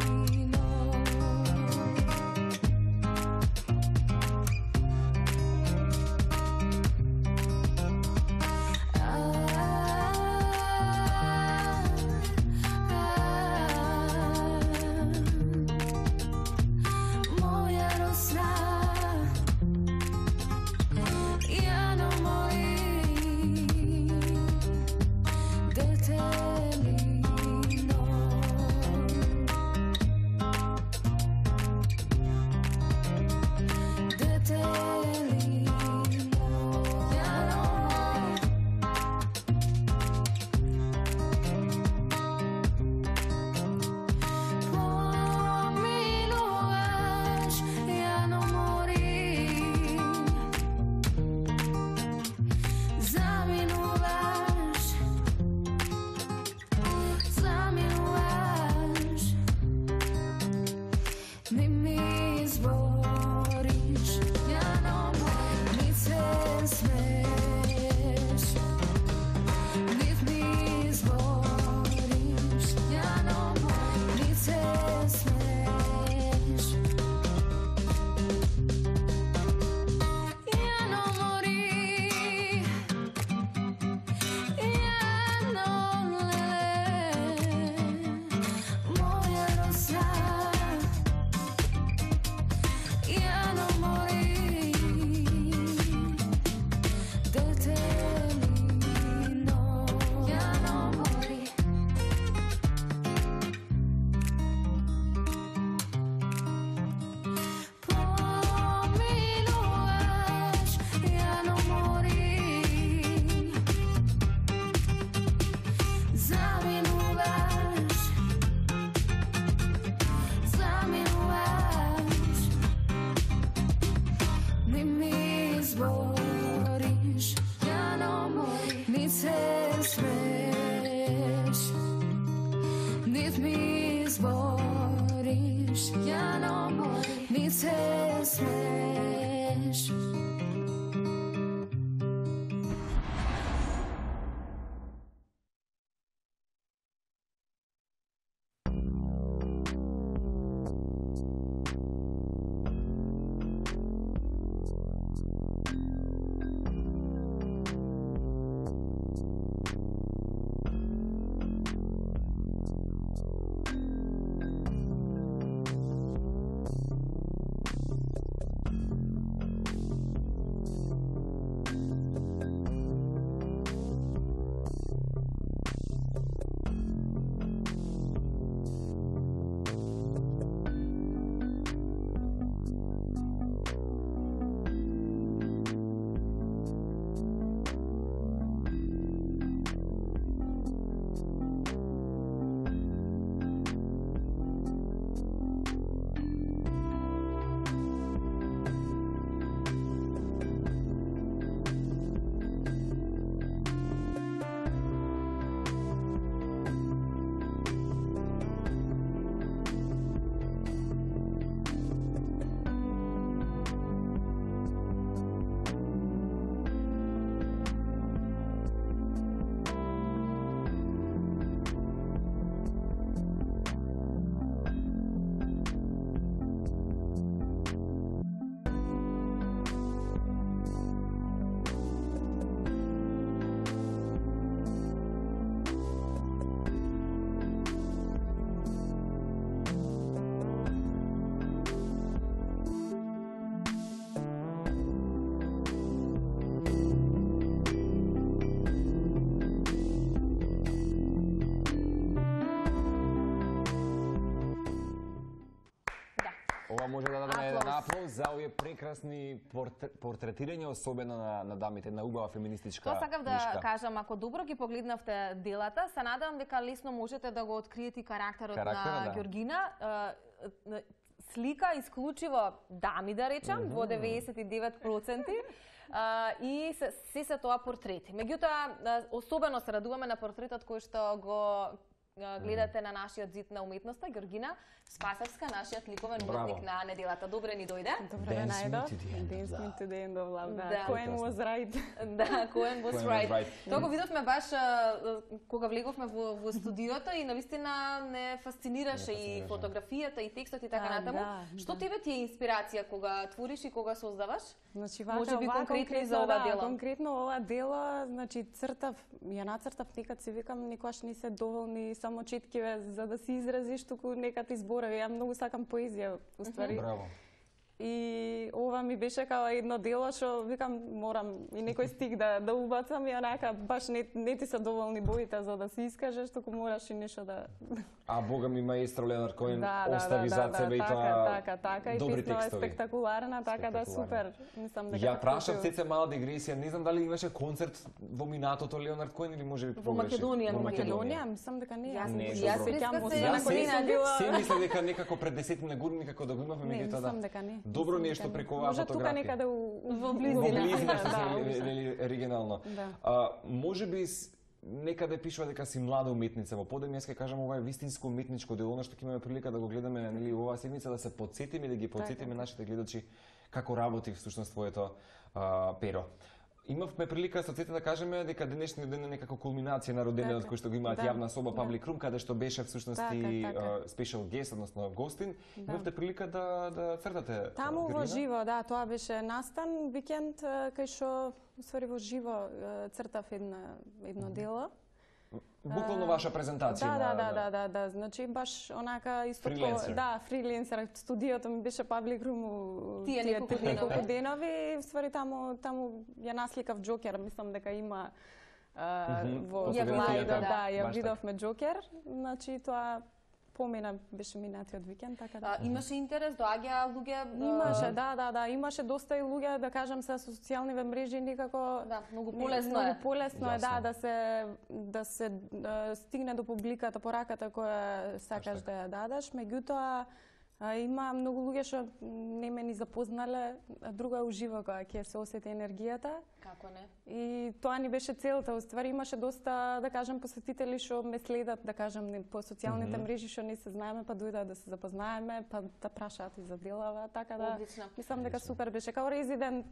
за овие прекрасни портр- портретирања, особено на, на дамите, на убава феминистичка Тоа сакав да книжка. кажам, ако добро ги погледнавте делата, се надевам дека лесно можете да го откриете и карактерот Карактера, на да. Георгина. Е, е, Слика исклучиво дами, да речам, mm -hmm. во деветдесет и девет проценти. Uh, и се, се се тоа портрети. Меѓутоа, uh, особено се радуваме на портретот кој што го uh, гледате на нашиот зид на уметноста, Георгина Спасовска, нашиот ликовен уметник на неделата. Добре ни дојде. Добре ве најдов. Dance me to the end of love. Да. Да. Cohen was right. Да, Cohen was Cohen was right. right. Тоа го видовме баш uh, кога влеговме во, во студиото и навистина не фасцинираше и фотографијата и текстот и така А, натаму. да, Што да. тебе ти е инспирација кога твориш и кога создаваш? Значи, вака, Може би ова конкретно за ова да, дело. конкретно ова дело, значи цртав, ја нацртав, некад си викам, никогаш не се доволни само четкиве за да се изразиш, туку некад и зборови. Ја многу сакам поезија, уствари. Браво. И ова ми беше као едно дело што викам морам и некој стих да да убацам и онака баш не, не ти се доволни боите за да се искажеш, туку мораш и нешто да А бога ми маестро Леонард Коен да, да, остави да, зад да, себе и така, тоа така, така, и добри песна е текстови. спектакуларна, така да Спектакуларна. супер. Мислам дека Ја прашав вклучив- сеце мала дигресија, не знам дали имаше концерт во минатото Леонард Коен или може би Во погрешив. Македонија, Во во Македонија, мислам дека не. Јас Не, јас добро. сеќам во се- Северна Јас Колина се- била. Се мисля дека некако пред десетина години како да го имавме Не, меѓутоа мислам да. дека не. Добро Мислам ни е што дека не. преку оваа Може тука фотографија. некаде у, Во Во близина. близина Да, што да, се да. вели оригинално. Да. А, може би с- некаде пишува дека си млада уметница. Во подем јас ќе кажам ова е вистинско уметничко дело, она што ќе имаме прилика да го гледаме нели оваа седмица, да се потсетиме и да ги потсетиме Така. нашите гледачи како работи всушност твоето а, перо. Имавме прилика со цете да кажеме дека денешниот ден е некако кулминација на роденденот Така. кој што го имаат Да. јавна соба Public Room, каде што беше всушност Така, и така. а, special guest, односно гостин. Имавте прилика да да цртате. Таму во Георгина? живо, да, тоа беше настан викенд е, кај што уствари во живо е, цртав една едно дело. Буквално ваша презентација. Да, да, на- да, на- да, да, да, значи баш онака исто Фриленсер. ко- да, фриленсер, студиото ми беше Public Room у Тие неколку денови. неколку денови, уствари таму таму ја насликав Џокер, мислам дека има а, Мгм, во по слайдот, фотографијата, да, ја баш така. видовме Џокер, значи тоа помина беше минатиот викенд, така да. А, имаше интерес, доаѓа луѓе. Имаше, да, да, да, имаше доста и луѓе, да кажам, со социјалните мрежи некако Да, многу не- полесно е. Многу полесно е, да, Јасно. да се да се да стигне до публиката пораката која сакаш да ја дадеш, меѓутоа а, има многу луѓе што не ме ни запознале, а друго е уживо кога ќе се осети енергијата. Како не? И тоа ни беше целта. Уствари имаше доста, да кажам, посетители што ме следат, да кажам, не- по социјалните мрежи што не се знаеме, па дојдат да се запознаеме, па да прашаат и за делава, така да. Одлично. Мислам дека супер беше као резидент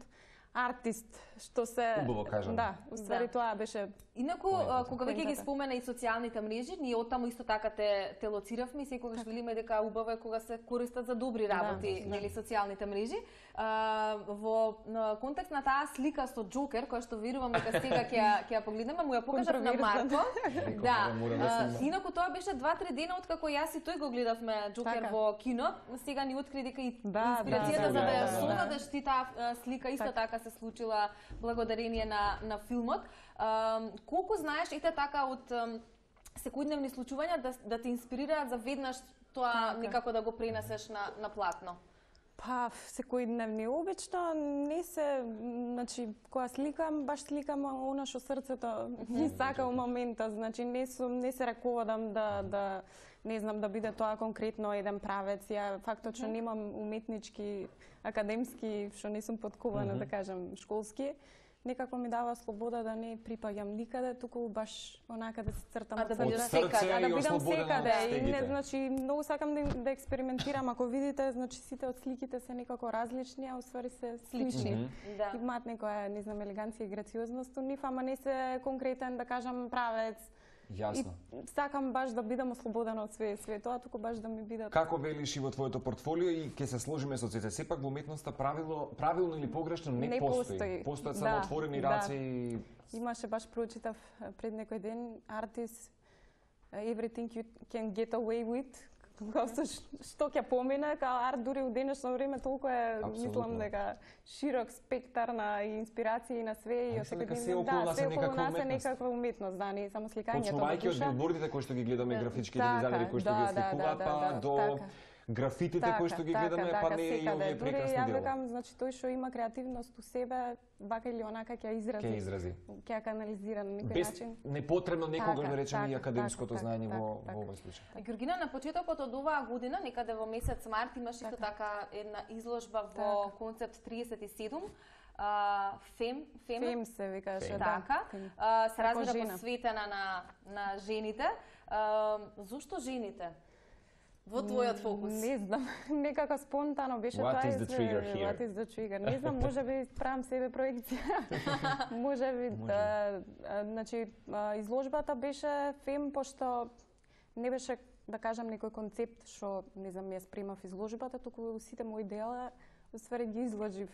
артист што се Убаво кажано. Да, уствари Да. тоа беше Инаку, а, кога веќе ги Поентата. спомена и социјалните мрежи, ние оттаму исто така те, те лоциравме и секогаш велиме дека убаво е кога се користат за добри работи, да. нели, социјалните мрежи. А, во на контекст на таа слика со Џокер, која што верувам дека сега ќе ја- ќе ја погледнеме, му ја покажав на Марко. Да. мора да А, снимам. Инаку тоа беше два-три дена откако јас и тој го гледавме Џокер Така. во кино. Сега ни откри дека и Да, инспирацијата да, за да ја да, да. создадеш ти таа а, слика исто Така. така се случила благодарение на на филмот. А, колку знаеш ете така од ам, секојдневни случувања да да те инспирираат за веднаш тоа Така. некако да го пренесеш на на платно? Па, секојдневни обично не се, значи, кога сликам, баш сликам она што срцето ми сака у моментот, значи не сум не се раководам да да не знам да биде тоа конкретно еден правец. Ја фактот што немам уметнички, академски, што не сум подкована, да кажам, школски, некако ми дава слобода да не припаѓам никаде, туку баш онака да се цртам А да од бидеш срце. секаде, А и да бидам ослободена од секаде и не стегите. значи многу сакам да, да експериментирам. Ако видите, значи сите од сликите се некако различни, а уствари се слични. Да. Имаат некоја, не знам, елеганција и грациозност у нив, ама не се конкретен, да кажам, правец. Јасно. И сакам баш да бидам ослободена од све, све тоа, туку баш да ми бидат. Како велиш и во твоето портфолио и ќе се сложиме со ците. Сепак во уметноста правило, правилно или погрешно не, Не постои. постои. Постојат Да, само отворени да. раци и Имаше баш прочитав е, пред некој ден артист Everything you can get away with. Као што, што ќе помине, као арт дури у денешно време толку е, Апсолутно. мислам дека широк спектар на инспирации и на све и А од мислам секој дека ден- се околу да, нас се е околу некаква нас е уметност. некаква уметност, да, не само сликањето. почнувајќи од душа. билбордите кои што ги гледаме, графичките Така, дизајнери кои што да, ги да, осликуваат, да, па да, до така. графитите кои што ги гледаме, па не и овие прекрасни Дури ја делови. викам, значи тој што има креативност у себе, вака или онака ќе ја изрази. Ќе изрази. Ќе ја канализира на некој Без начин. непотребно некогаш Така, да речеме и така, академското така, знаење така, во така. во овој случај. Георгина, на почетокот од оваа година, некаде во месец март, имаш исто така една изложба во концепт триесет и седум. Uh, фем, фем, Фем се викаше, да. така, Фем. uh, се Како разбира жена. посветена на, на жените. Uh, зошто жените? Во твојот фокус? Не знам, некако спонтано беше What тоа. is и the се- trigger here? What is the trigger? Не знам, може би правам себе проекција. може би, да, а, значи, а, изложбата беше фем, пошто не беше, да кажам, некој концепт што, не знам, ја спремав изложбата, туку сите мои дела, уствари ги изложив.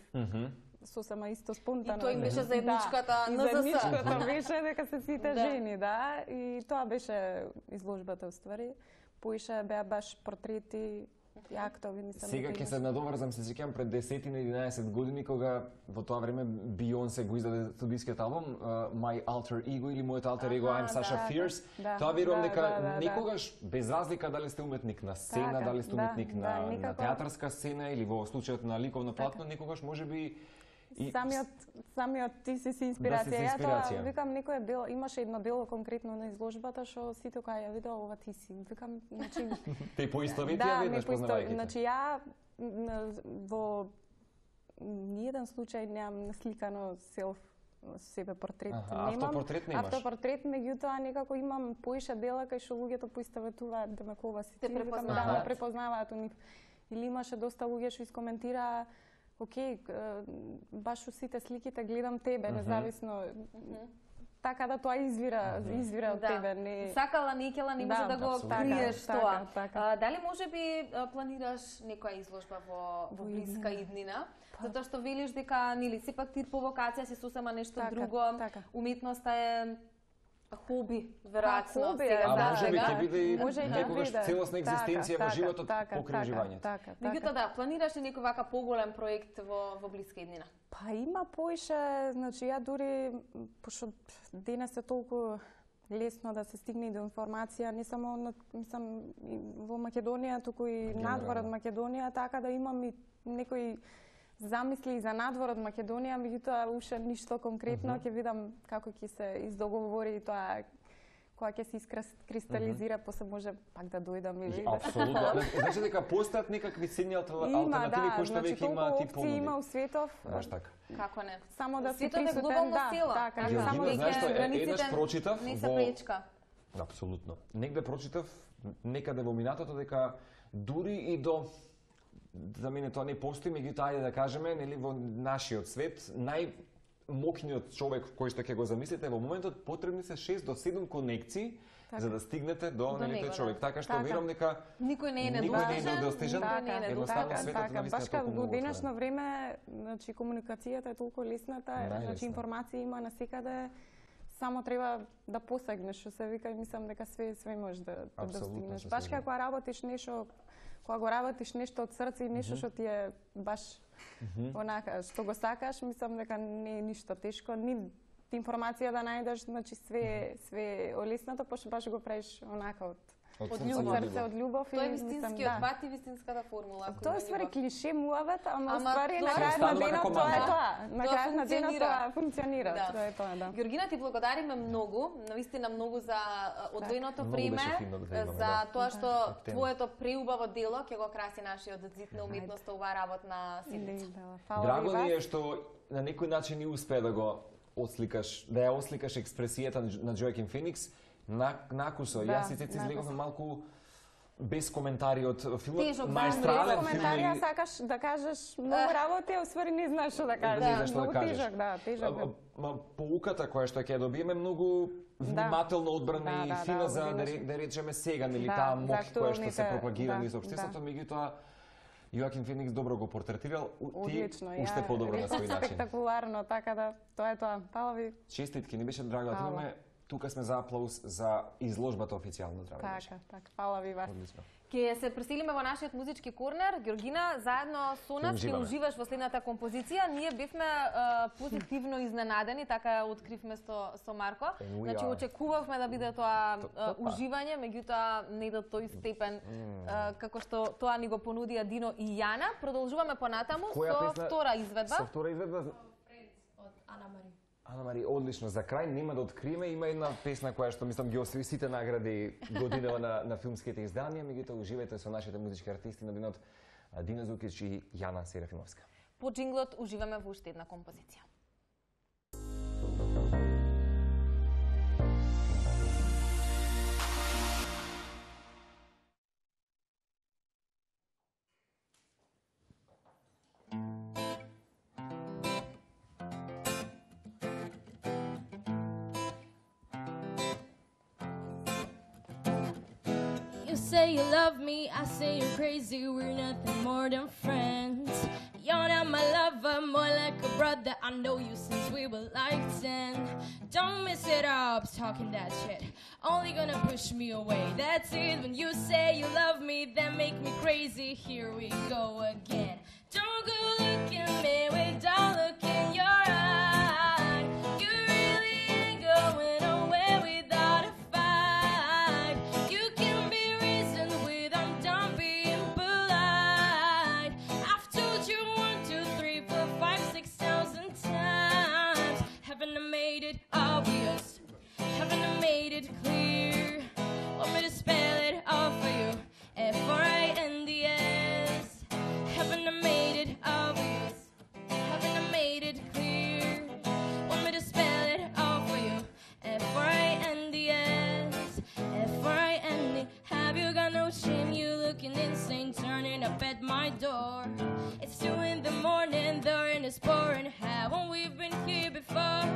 Сосема исто спонтано. И тој им беше заедничката да, и НЗС. заедничката беше дека се сите Да. жени, да. И тоа беше изложбата, уствари. Поише беа баш портрети и актови, мислам. Сега дека ќе се имаше. надоврзам, се сеќавам пред десетина единаесет години кога во тоа време Beyoncé го издаде студискиот албум uh, My Alter Ego или Мојот Alter Ego I'm Sasha да, Fierce. да, Тоа верувам да, дека да, да, да. некогаш без разлика дали сте уметник на сцена, Така, дали сте да, уметник да, на, на никако. театарска сцена или во случајот на ликовно платно, некогаш можеби и Самиот, самиот ти си си Да инспирација. си си Ја тоа инспирација. викам некој дел, имаше едно дело конкретно на изложбата што сите кога ја видеа ова ти си. Викам, значи те поистоветија да, веднаш не поисто, познавајќи. значи ја н- во ниеден случај немам насликано селф себе портрет. Аха, Немам автопортрет немаш? Автопортрет, меѓутоа некако имам поише дела кај што луѓето поистоветуваат дека ова си Те ти, викам, да, препознаваат. ме препознаваат у нив. Или имаше доста луѓе што искоментираа окей, е, баш у сите сликите гледам тебе, независно. Така да тоа извира, извира од тебе, не. Сакала, некела, не може Да, да, го апсолутно. криеш Така, тоа. така, така. А, дали може би а, планираш некоја изложба во, во Во блиска иднина. иднина? Затоа што велиш дека, нели, сепак ти провокација си сосема нешто Така, друго. така. Уметноста е хоби, веројатно. хоби е, сега А за може би сега. ќе биде и Може и да некогаш биде. целосна Така, екзистенција во така, животот така, покрај така, уживањето. Така, Меѓутоа така. да, планираш ли некој вака поголем проект во, во блиска иднина? Па има поише, значи ја дури, пошто денес е толку лесно да се стигне и до информација, не само на, мислам, и во Македонија, туку и надвор од Македонија, така да имам и некои замисли и за надвор од Македонија, меѓутоа уште ништо конкретно, ќе видам како ќе се издоговори тоа кога ќе се искристализира, после може пак да дојдам или да се Апсолутно. Значи дека постојат некакви цени алтернативи Има, да, кои што значи веќе има толку ти опции има понуди. у светов. Баш така. Како не? Само да си Светот е присутен, глобална да, сила. така, Така, Георгина, само знаеш веќе што, е- границите еднаш прочитав не се во- пречка. Апсолутно. Негде прочитав некаде во минатото дека дури и до за мене тоа не постои, меѓутоа ајде да кажеме, нели во нашиот свет најмокниот човек кој што ќе го замислите во моментот потребни се шест до седум конекции за да стигнете до, До нели него, тој човек. да. Така што Така. верувам дека Никој не е Никој не е недостижен. недостижен. Никој не е Така, недостижен. едноставно Така, светот така. навистина Баш е како толку во многу денешно отворен. време, значи комуникацијата е толку лесната, Најлесна. значи информација има насекаде, само треба да посегнеш, што се вика, и мислам дека све све можеш да, да Апсолутно достигнеш. се Баш слажам. кога работиш нешто, кога го работиш нешто од срце и нешто што ти е баш онака што го сакаш, мислам дека не е ништо тешко, ни информација да најдеш, значи све све олеснато, пошто баш го правиш онака од Од Од срце љубов. до срце, љубов. од љубов Тоа е и мислам, вистинскиот да. пат и вистинската формула. ако Тоа е има ствари љубов. клише муавет, ама, Ама ствари тоа на крајот на останува денот како тоа е мантра. тоа. На Тоа крајот на денот функционира. тоа функционира. Да. Тоа е тоа, да. Георгина, ти благодариме многу, навистина многу за а, одвоеното Многу време, беше фино да те имаме, за да. тоа што Тема. твоето преубаво дело ќе го краси нашиот зид на уметноста оваа работна седмица. Или, да, фала Драго ви ни е вас. што на некој начин и успеа да го отсликаш, да ја осликаш експресијата на- на Джоакин Феникс на накусо. Да, Јас и Цеци излеговме малку без коментари од филмот. Тежок филм, Маестрален без филм. Коментарија или- сакаш да кажеш многу работи, а усвари не знаеш што да кажеш. Не знаеш што да Многу кажеш. тежок, да, тежок. А, а, ма, поуката која што ќе ја добиеме многу внимателно одбрана Да, и да, фина да, за да, одбрана. ре- да речеме сега, нели Да, таа за мок која што се актуалните- пропагира да, низ општеството, да. меѓутоа Јоакин Феникс добро го портретирал, у- ти Одлично, уште подобро на реков свој начин. спектакуларно, така да тоа е тоа. Фала ви. Честитки, ни беше драго да те Фала. имаме тука сме за аплауз за изложбата официјално, здраве. Така, така. Фала ви вас. Одлично. Ке се преселиме во нашиот музички корнер. Георгина, заедно со нас ќе уживаш во следната композиција. Ние бевме а, позитивно изненадени, така откривме со, со Марко. Значи, очекувавме да биде тоа а, уживање, меѓутоа не до тој степен а, како што тоа ни го понудија Дино и Јана. Продолжуваме понатаму со втора изведба. Со втора изведба од Ана Мари. Ана Мари, одлично. За крај нема да откриеме, има една песна која што мислам ги освои сите награди годинава на, на филмските изданија, меѓутоа уживајте со нашите музички артисти на денот Дино Зукич и Јана Серафимовска. По джинглот уживаме во уште една композиција. You say you love me, I say you're crazy, we're nothing more than friends. You're not my lover, more like a brother, I know you since we were like ten. Don't mess it up, talking that shit, only gonna push me away, that's it. When you say you love me, that make me crazy, here we go again. Don't go look at me without look in your eye, you really ain't going nowhere without a fight. You can be reasoned with, I'm done being polite. I've told you one, two, three, four, five, six thousand times. Haven't I made it obvious? Haven't I made it clear? Want me to spell it all for you? F R I N D S. Haven't I made it obvious? Haven't I made it clear? Want me to spell it all for you? F R I N D S. F R I N D. Have you got no shame? You looking insane, turning up at my door. It's two in the morning, the rain is pouring. Haven't we been here before?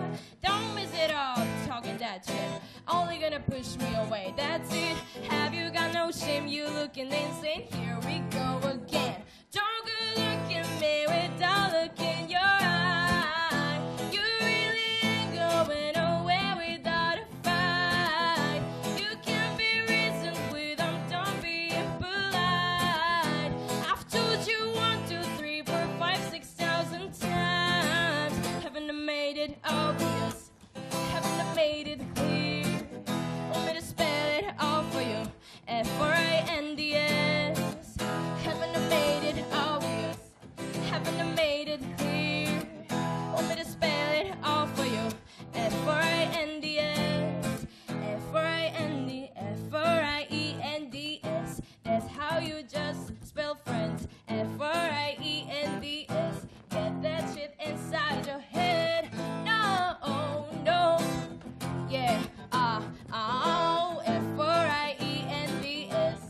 Don't miss it all, talking that shit, only gonna push me away, that's it. Have you got no shame? You looking insane, here we go again. Don't go look at me without look in your eye, you really ain't going nowhere without a fight. You can be reasoned with, I'm done being polite. I've told you one, two, three, four, five, six thousand times. Haven't I made it obvious? Haven't I made it clear? Want me to spell it all for you? F R I N D S. Haven't I made it obvious? Haven't I made it clear? Want me to spell it all for you? F R I N D S. F R I N D, F R I E N D S. That's how you just spell friends. F R I E N D S. Get that shit inside your head. No, no. Yeah, ah, uh, oh, F R I E N D S.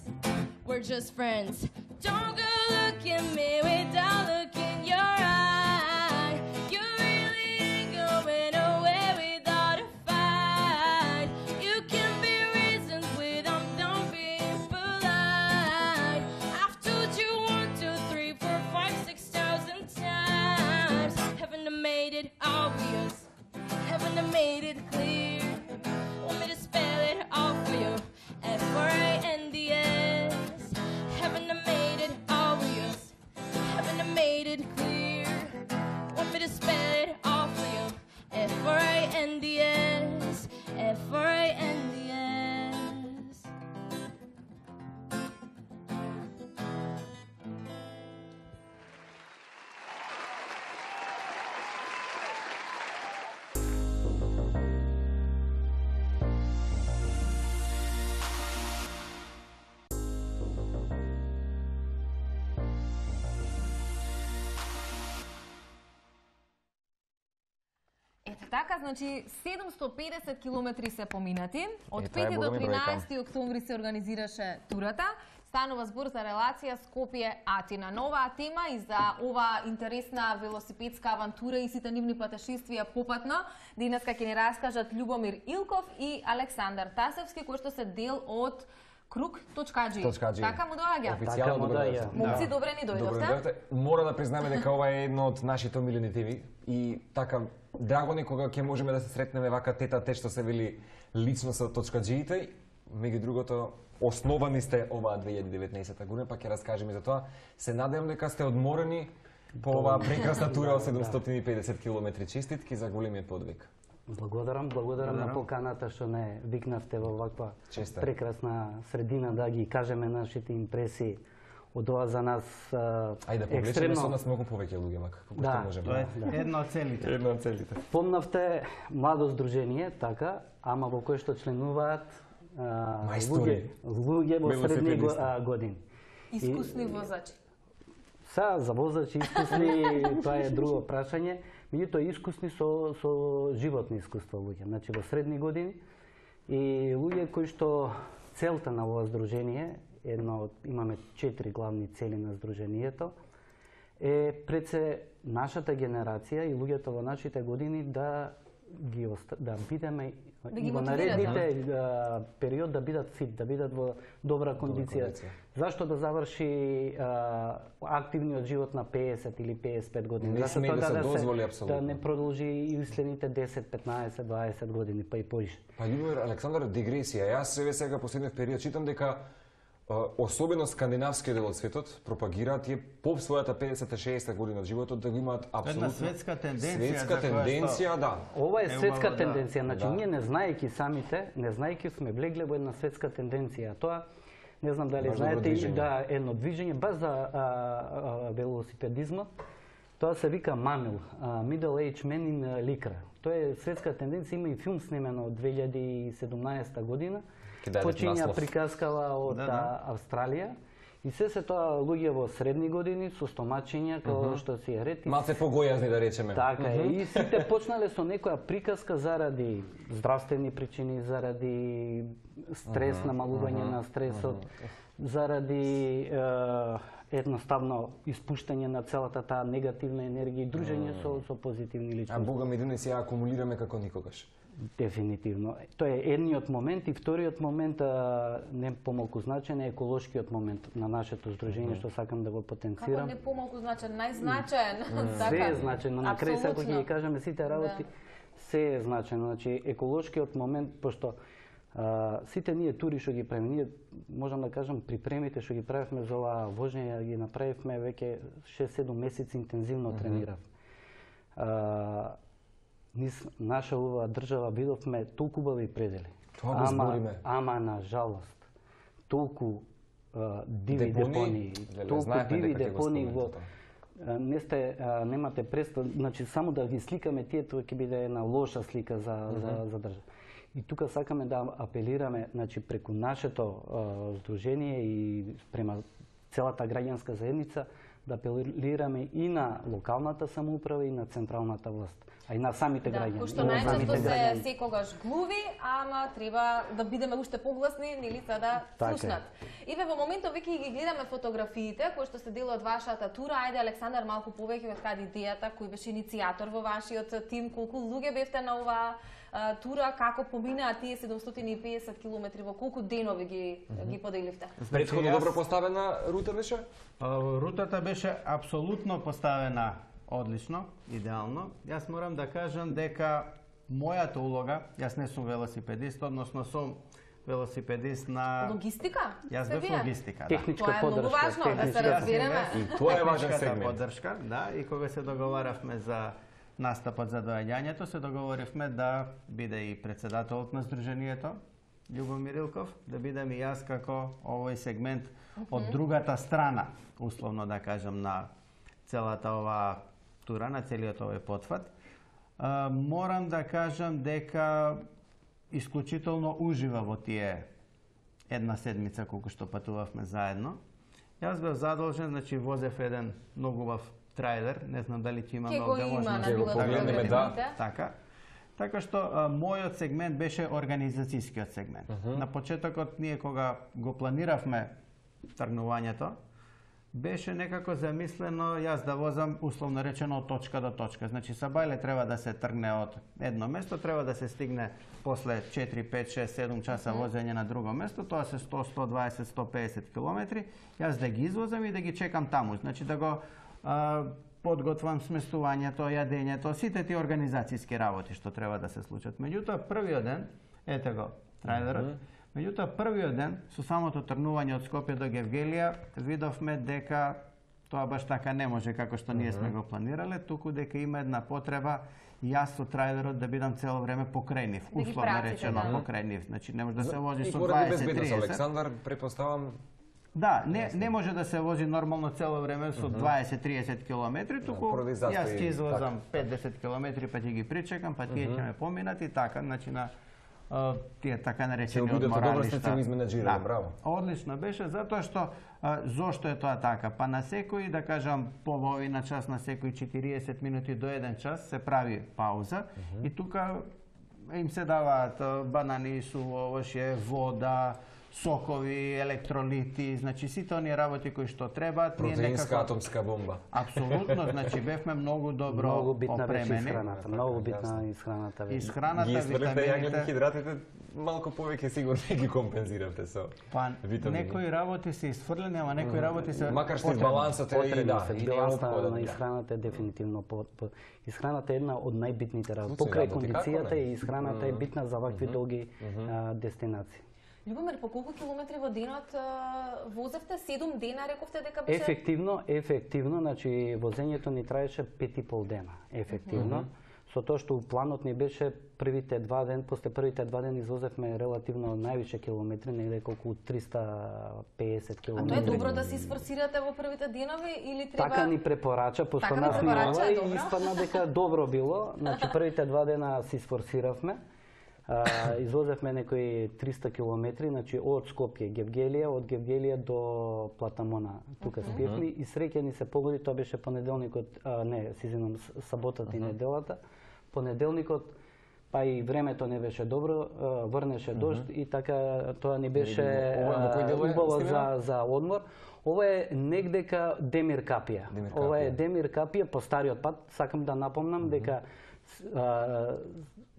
We're just friends. Don't go look at me without look in your eye. You really ain't going nowhere without a fight. You can be reasoned with, I'm done being polite. I've told you one, two, three, four, five, six thousand times. Haven't I made it obvious? Haven't I made it clear? Want me to spell it all for you? F R I N D S. Haven't I made it obvious? Haven't I made it clear? Want me to spell it all for you? F R I N D S. F R I N D S. Ето така, значи седумсто педесет километри се поминати. Од Е, тоа е пети до големи бројка. тринаесети октомври се организираше турата. Станува збор за релација Скопје-Атина. Нова тема и за ова интересна велосипедска авантура и сите нивни патешествија попатно. Денеска ќе ни раскажат Љубомир Илков и Александар Тасевски, кои што се дел од Круг.джи. Така му доаѓа. Официјално добро дојдовте. Момци, добре ни Добро дојдовте. дојдовте. Мора да признаме дека ова е едно од нашите омилени теми и така драго ни кога ќе можеме да се сретнеме вака тета те што се вели лично со точкаджиите. Меѓу другото, основани сте оваа две илјади и деветнаесета година, па ќе раскажеме за тоа. Се надевам дека сте одморени по оваа прекрасна тура од седумстотини и педесет километри. Честитки за големиот подвиг. Благодарам, благодарам на поканата што не викнавте во ваква Честит. прекрасна средина да ги кажеме нашите импресии од ова за нас Ајде да повлечеме со нас многу повеќе луѓе, мака како Да, што можеме. Тоа е една од целите. Една од целите. Помнавте младо здружение, така, ама во кое што членуваат а, луѓе, Мајстори. луѓе во средни го- Велосипедисти. а, години. Искусни возачи. Са, за возачи искусни, тоа е друго прашање. Меѓутоа искусни со, со животни искуства луѓе, значи во средни години. И луѓе кои што целта на ова здружение, едно од, имаме четири главни цели на здружението, е пред се нашата генерација и луѓето во нашите години да ги оста, да бидеме Да ги и во мотивират, наредните а, период да бидат фит, да бидат во добра кондиција. кондиција. Зашто да заврши а, активниот живот на педесет или педесет и пет години? Не Зашто сме тоа да се да дозволи апсолутно. да не продолжи и следните десет, петнаесет, дваесет години, па и поише. Па Љубомир Александар, дигресија. Јас себе сега последниот период читам дека а, особено скандинавскиот дел од светот пропагираат тие по својата педесет-шеесет година од животот да го имаат апсолутно светска тенденција Светска за која тенденција, да. Ова е Е, светска убаво да- тенденција, значи да. ние не знаејќи самите, не знаејќи сме влегле во една светска тенденција. Тоа не знам дали Баш добро знаете движење. да едно движење баш за а, а, велосипедизмот. Тоа се вика Мамил, а, Middle Age Men in Lycra. Тоа е светска тенденција, има и филм снимено од две илјади и седумнаесета година. Ќе дадете Почиња наслов. приказкава од Да, да. а, Австралија. И се се тоа луѓе во средни години со стомачиња, како што си е ред. И Малце погојазни да речеме. Така е. И сите почнале со некоја приказка заради здравствени причини, заради стрес, намалување на стресот, заради е, едноставно испуштање на целата таа негативна енергија и дружење со, со позитивни А личности. Бога ми денес ја акумулираме како никогаш. Дефинитивно. Тоа е едниот момент и вториот момент, а, не помалку значен, е еколошкиот момент на нашето здружение, што сакам да го Како потенцирам. не помалку значен, најзначаен. Се е значено, на крај сега кога Апсолутно. ги кажеме сите работи, се е значено. Значи еколошкиот момент, пошто а, сите ние тури што ги правиме, ние можам да кажам припремите што ги правевме за оваа вожење, ги направивме веќе шест-седум месеци интензивно тренирав. А, низ наша оваа држава видовме толку убави предели. Тоа го ама, збориме. ама на жалост, толку а, диви Депонии? депонии, Леле, толку знаевме диви дека ќе го депонии во споменете а, не сте а, немате представа, значи само да ги сликаме тие тоа ќе биде една лоша слика за за за држава. И тука сакаме да апелираме, значи преку нашето а, здружение и према целата граѓанска заедница да апелираме и на локалната самоуправа и на централната власт, а и на самите Да, граѓани. кој што И на најчесто самите се граѓани. секогаш глуви, ама треба да бидеме уште погласни, нели, за да Така е. слушнат. Иве, во моментот веќе ги гледаме фотографиите кои што се дел од вашата тура. Ајде, Александар, малку повеќе од каде идејата, кој беше иницијатор во вашиот тим, колку луѓе бевте на оваа а, тура, како поминаа тие седумстотини и педесет километри, во колку денови ги ги поделивте? Претходно јас- добро поставена рута беше? А, Рутата беше апсолутно поставена одлично, идеално. Јас морам да кажам дека мојата улога, јас не сум велосипедист, односно сум велосипедист на... Логистика? Јас Сте бев вие? логистика, да. Техничка Тоа е многу поддршка. важно, да се техничка- разбереме. И тоа е важен Техничката сегмент. поддршка, да, и кога се договаравме за настапот за доаѓањето, се договоривме да биде и председателот на здружението, Љубомир Илков, да бидам и јас како овој сегмент од другата страна, условно да кажам, на целата ова тура, на целиот овој потфат. А, морам да кажам дека исклучително ужива во тие една седмица колку што патувавме заедно. Јас бев задолжен, значи возев еден многу убав трајлер, не знам дали ќе имаме Ке го овде има на можност Ќе го било погледнеме, да. Така. Така што а, мојот сегмент беше организацијскиот сегмент. Uh -huh. На почетокот ние кога го планиравме тргнувањето, беше некако замислено јас да возам условно речено од точка до точка. Значи Сабајле треба да се тргне од едно место, треба да се стигне после четири, пет, шест, седум часа возење на друго место, тоа се сто, сто дваесет, сто педесет километри, јас да ги извозам и да ги чекам таму. Значи да го а, подготвам сместувањето, јадењето, сите тие организацијски работи што треба да се случат. Меѓутоа, првиот ден, ете го, трајлерот, mm -hmm. меѓутоа, првиот ден, со самото тргнување од Скопје до Гевгелија, видовме дека тоа баш така не може како што ние сме го планирале, туку дека има една потреба јас со трајлерот да бидам цело време покрај нив, условно речено покрај нив. Значи не може да се вози со дваесет триесет. Александар, претпоставам. Да, не не може да се вози нормално цело време со дваесет триесет километри, туку јас ќе извозам пет до десет километри, па ќе ги причекам, па тие ќе ме поминат и така, значи на тие така наречени одморалишта. Да, браво. Одлично беше, затоа што а, зошто е тоа така? Па на секој, да кажам, половина час, на секој четириесет минути до еден час се прави пауза uh -huh. и тука им се даваат банани, су овошје, вода, сокови, електролити, значи сите оние работи кои што требаат. Протеинска некако... атомска бомба. Апсолутно, значи бевме многу добро многу битна опремени. Исхраната, многу битна исхраната. Исхраната, ги витамините. Јаглени хидратите малку повеќе сигурно ги компензиравте со па, витамини. Некои работи се исфрлени, ама некои работи се макар што балансот е и да, балансот на исхраната е дефинитивно по, по исхраната е една од најбитните работи. Покрај кондицијата и исхраната е битна за вакви долги дестинации. Љубомир, по колку километри во денот возевте? седум дена, рековте дека беше? Ефективно, ефективно, значи возењето ни траеше пет и пол дена, ефективно. Mm -hmm. Со тоа што планот ни беше првите два ден, после првите два дена извозевме релативно највише километри, негде колку триста пеесет километри. А тоа е добро да се сфорсирате во првите денови или треба? Така ни препорача, пошто нас ни ова и испадна дека добро било. Значи првите два дена си сфорсиравме. Uh, извозевме некои триста километри, значи од Скопје Гевгелија, од Гевгелија до Платамона, тука uh -huh. спиевме и среќа ни се погоди, тоа беше понеделникот, а, не, си извинам, саботата uh -huh. и неделата. Понеделникот, па и времето не беше добро, врнеше дожд uh -huh. и така тоа ни беше uh, убаво за, за одмор. Ова е негдека Демир Капија. Демир Ова е Демир Капија по стариот пат. Сакам да напомнам uh -huh. дека а,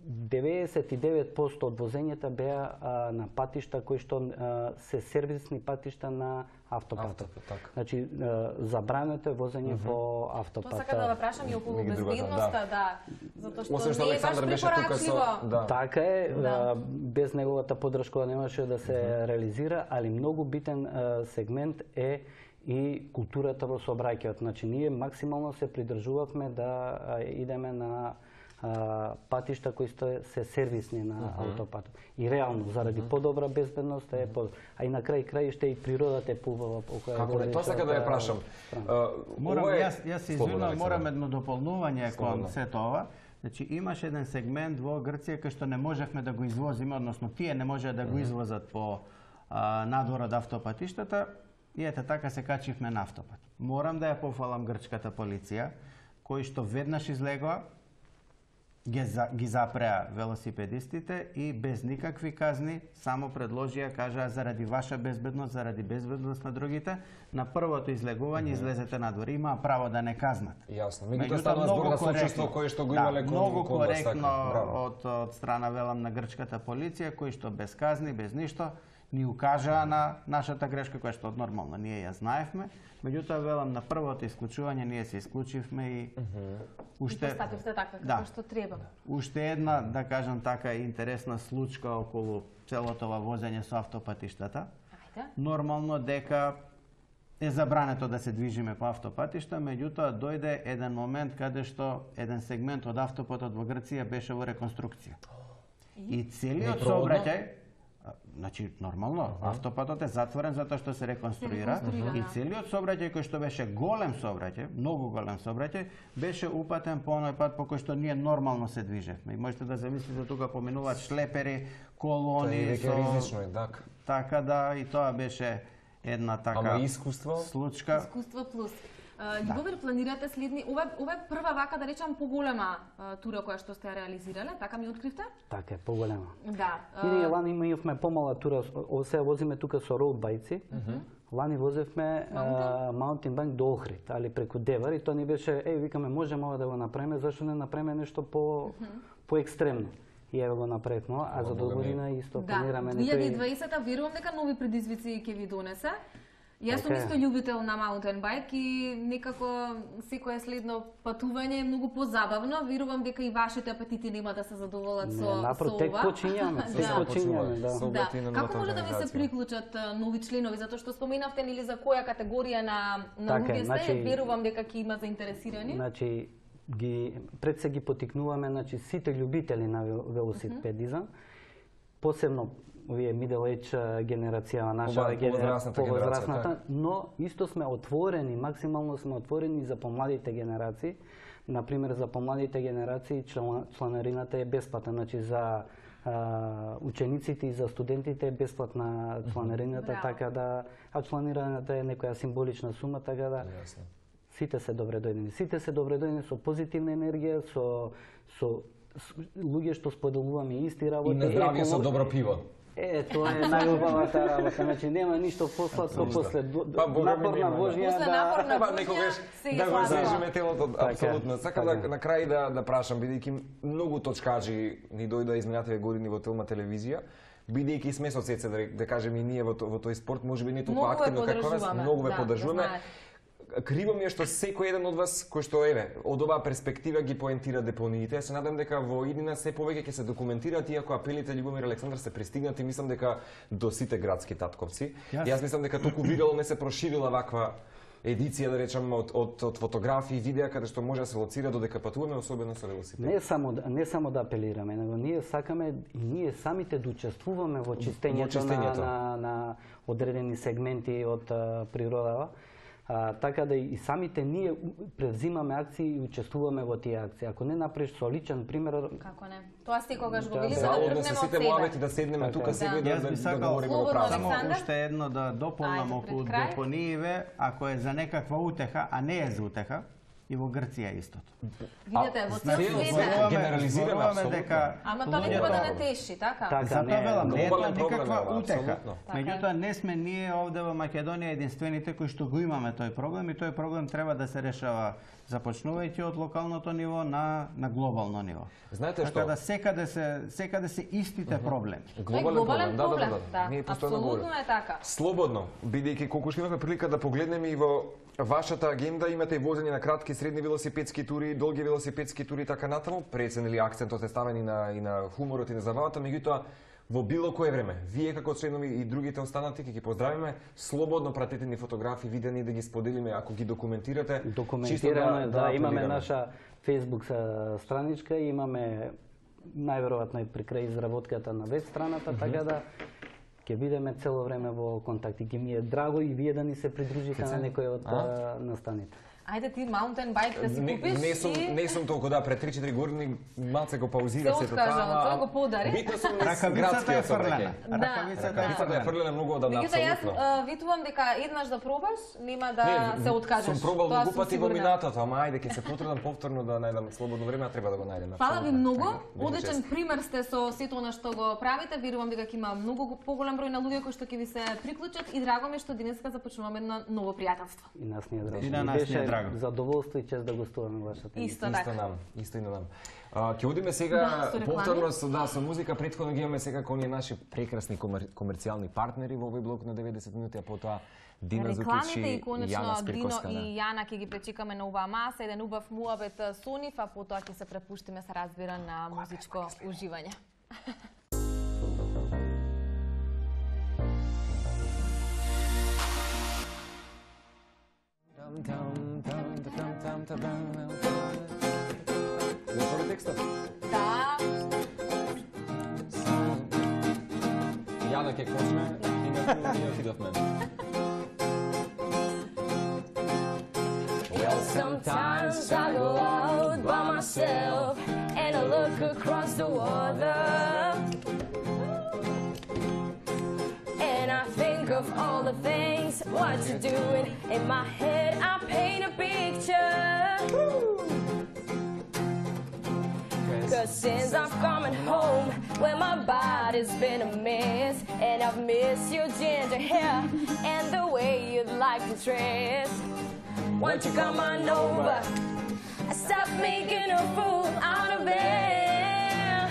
деветдесет и девет проценти од возењата беа а, на патишта кои што а, се сервисни патишта на автопатот. Авто, значи а, забрането е возење uh -huh. по автопат. Тоа сака да прашам и околу безбедноста, да. да. Затоа што Освен што не е баш препорачливо. Да. Така е, да. без неговата поддршка немаше да се uh -huh. реализира, али многу битен а, сегмент е и културата во сообраќајот. Значи ние максимално се придржувавме да а, идеме на Uh, патишта кои се сервисни на uh -huh. автопатот. И реално, заради uh -huh. подобра безбедност е по... А и на крај крајште и природата е поубава. Како не, тоа сака да ја прашам. Uh, морам, е... јас, јас се извинувам, морам едно дополнување кон сето ова. Значи имаше еден сегмент во Грција кај што не можевме да го извозиме, односно тие не можеа да го извозат по uh, надвор од автопатиштата и ете така се качивме на автопат. Морам да ја пофалам грчката полиција, кои што веднаш излегоа, ги, за, ги запреа велосипедистите и без никакви казни само предложија, кажаа заради ваша безбедност, заради безбедност на другите, на првото излегување mm -hmm. излезете надвор. Имаа право да не казнат. Јасно. Меѓутоа стана збор на случајство кое што го имале да, кон многу коректно од, од страна велам на грчката полиција, кои што без казни, без ништо, ни укажаа на нашата грешка, која што нормално ние ја знаевме. Меѓутоа, велам, на првото исклучување ние се исклучивме и mm -hmm. уште... И постапивте така, како да. што треба. Уште една, да кажам така, интересна случка околу целото ова возење со автопатиштата. Ајде. Нормално дека е забрането да се движиме по автопатишта, меѓутоа дојде еден момент каде што еден сегмент од автопатот во Грција беше во реконструкција. И, и целиот сообраќај, значи нормално, uh -huh. автопатот е затворен затоа што се реконструира uh -huh. и целиот сообраќај кој што беше голем сообраќај, многу голем сообраќај, беше упатен по оној пат по кој што ние нормално се движевме. И можете да замислите тука поминуваат шлепери, колони, тоа е ризично, така. Така да и тоа беше една така Ама искуство? случка. Искуство плюс. Љубомир, да. планирате следни, ова ова е прва вака да речам поголема тура која што сте реализирале, така ми откривте? Така е, поголема. Да. И ние лани имавме помала тура, се возиме тука со роудбајци. Mm -hmm. Лани возевме маунтин байк до Охрид, али преку Девар и тоа ни беше, еј, викаме, можеме ова да го направиме, зашто не направиме нешто по mm -hmm. по екстремно. И еве го направивме, а за до година исто планираме некои... Да, две илјади и дваесета верувам дека нови предизвици ќе ви донесе. Јас сум исто љубител на маунтен байк и некако секое следно патување е многу позабавно. Верувам дека и вашите апетити нема да се задоволат со ова. Напротив, тек почињаме, тек почињаме, да. Да. Како може да ви се приклучат нови членови, затоа што споменавте нели за која категорија на на луѓе сте, верувам дека ќе има заинтересирани. Значи ги пред се ги потикнуваме, значи сите љубители на велосипедизам, посебно овие middle age генерација, наша повозрасната, но исто сме отворени, максимално сме отворени за помладите генерации. Например, за помладите генерации член, чланарината е бесплатна, значи за а, учениците и за студентите е бесплатна чланарината, mm-hmm. така да, а чланираната е некоја символична сума, така да сите се добре дојдени. Сите се добре дојдени со позитивна енергија, со со луѓе што споделуваме исти работи. И на здравје со добро пиво. Е, тоа е најубавата работа, значи нема ништо посладко после напорна вожња да... После напорна вожња, некогаш да го зрежеме телото, апсолутно. Сакам да на крај да да прашам, бидејќи многу точкаџи ни дојдоа изминативе години во Телма телевизија, бидејќи сме соцсети, да, да кажеме и ние во во тој спорт, можеби не толку активно како вас, многу ве поддржуваме. Криво ми е што секој еден од вас кој што еве од оваа перспектива ги поентира депониите. Се надам дека во иднина се повеќе ќе се документираат, иако апелите Љубомир Александар се пристигнати, мислам дека до сите градски татковци. Yes. Јас мислам дека толку видео не се проширила ваква едиција, да речеме, од, од, од фотографии, видеа каде што може да се лоцира додека патуваме, особено со велосипед. Не само не само да апелираме, него ние сакаме и ние самите да учествуваме во чистењето, во чистењето. На, на, на одредени сегменти од а, природава. А, така да и самите ние превзимаме акции и учествуваме во тие акции. Ако не направиш со личен пример... Како не? Тоа секогаш го видиме, да тргнеме од себе. Заодно да седнеме тука сега да да говориме во правда. Само уште едно да дополнам околу депонииве, ако е за некаква утеха, а не е за утеха, и во Грција истото. Видете, во цел свет генерализираме дека ама тоа не треба да не теши, така? Така, не велам, не е тоа никаква утеха. Меѓутоа не сме ние овде во Македонија единствените кои што го имаме тој проблем и тој проблем треба да се решава започнувајќи од локалното ниво на на глобално ниво. Знаете што? Така да секаде се секаде се истите проблеми. Глобален проблем, да. Ние постојано апсолутно е така. Слободно, бидејќи колку што имавме прилика да погледнеме и во вашата агенда, имате и возење на кратки и средни велосипедски тури, долги велосипедски тури и така натаму. Преценили акцентот е ставен и на и на хуморот и на забавата, меѓутоа во било кое време, вие како членови и другите останати ќе ги поздравиме, слободно пратете ни фотографии, видеа да ги споделиме ако ги документирате. Документираме, да, да, имаме наша Facebook страничка, имаме најверојатно и при крај изработката на веб страната, mm -hmm. така да ќе бидеме цело време во контакти. Ги ми е драго и вие да ни се придружите на некој од а? настаните. Ајде ти маунтен байк да си купиш не, не сум, и... Не сум толку, да, пред три-четири години малце го паузира се тоа. Тој го подари. Битно сум градскиот фрлена. Ракавицата е фрлена многу одамна, апсолутно. Меѓутоа јас витувам дека еднаш да пробаш, нема да се откажеш. Сум пробал многу пати во минатото, ама ајде ќе се потрудам повторно да најдам слободно време, а треба да го најдем. Фала ви многу. Одличен пример сте со сето она што го правите. Верувам дека ќе има многу поголем број на луѓе кои што ќе ви се приклучат и драго ми што денеска започнуваме едно ново пријателство. И нас ни е драго. И на нас ни е драго. Задоволство и чест да гостуваме во вашата емисија. Исто така. Исто нам, исто и на нам. Ќе одиме сега да, повторно со да со музика, претходно ги имаме сега оние наши прекрасни комер, комерцијални партнери во овој блок на деветдесет минути, а потоа Дина Зукич и Јана Спирковска. Дино и Јана ќе ги пречекаме на оваа маса, еден убав муабет со нив, а потоа ќе се препуштиме, се разбира, на музичко уживање. Готови текстот? Да. Јана ќе почне и на ние отидовме. Well, sometimes I go out by myself and I look across the water and I think of all the things what you're doing. In my head I paint a picture. Cause since I've come home, well my body's been a mess, and I've missed your ginger hair and the way you like to dress. Won't you come on over? Stop making a fool out of it.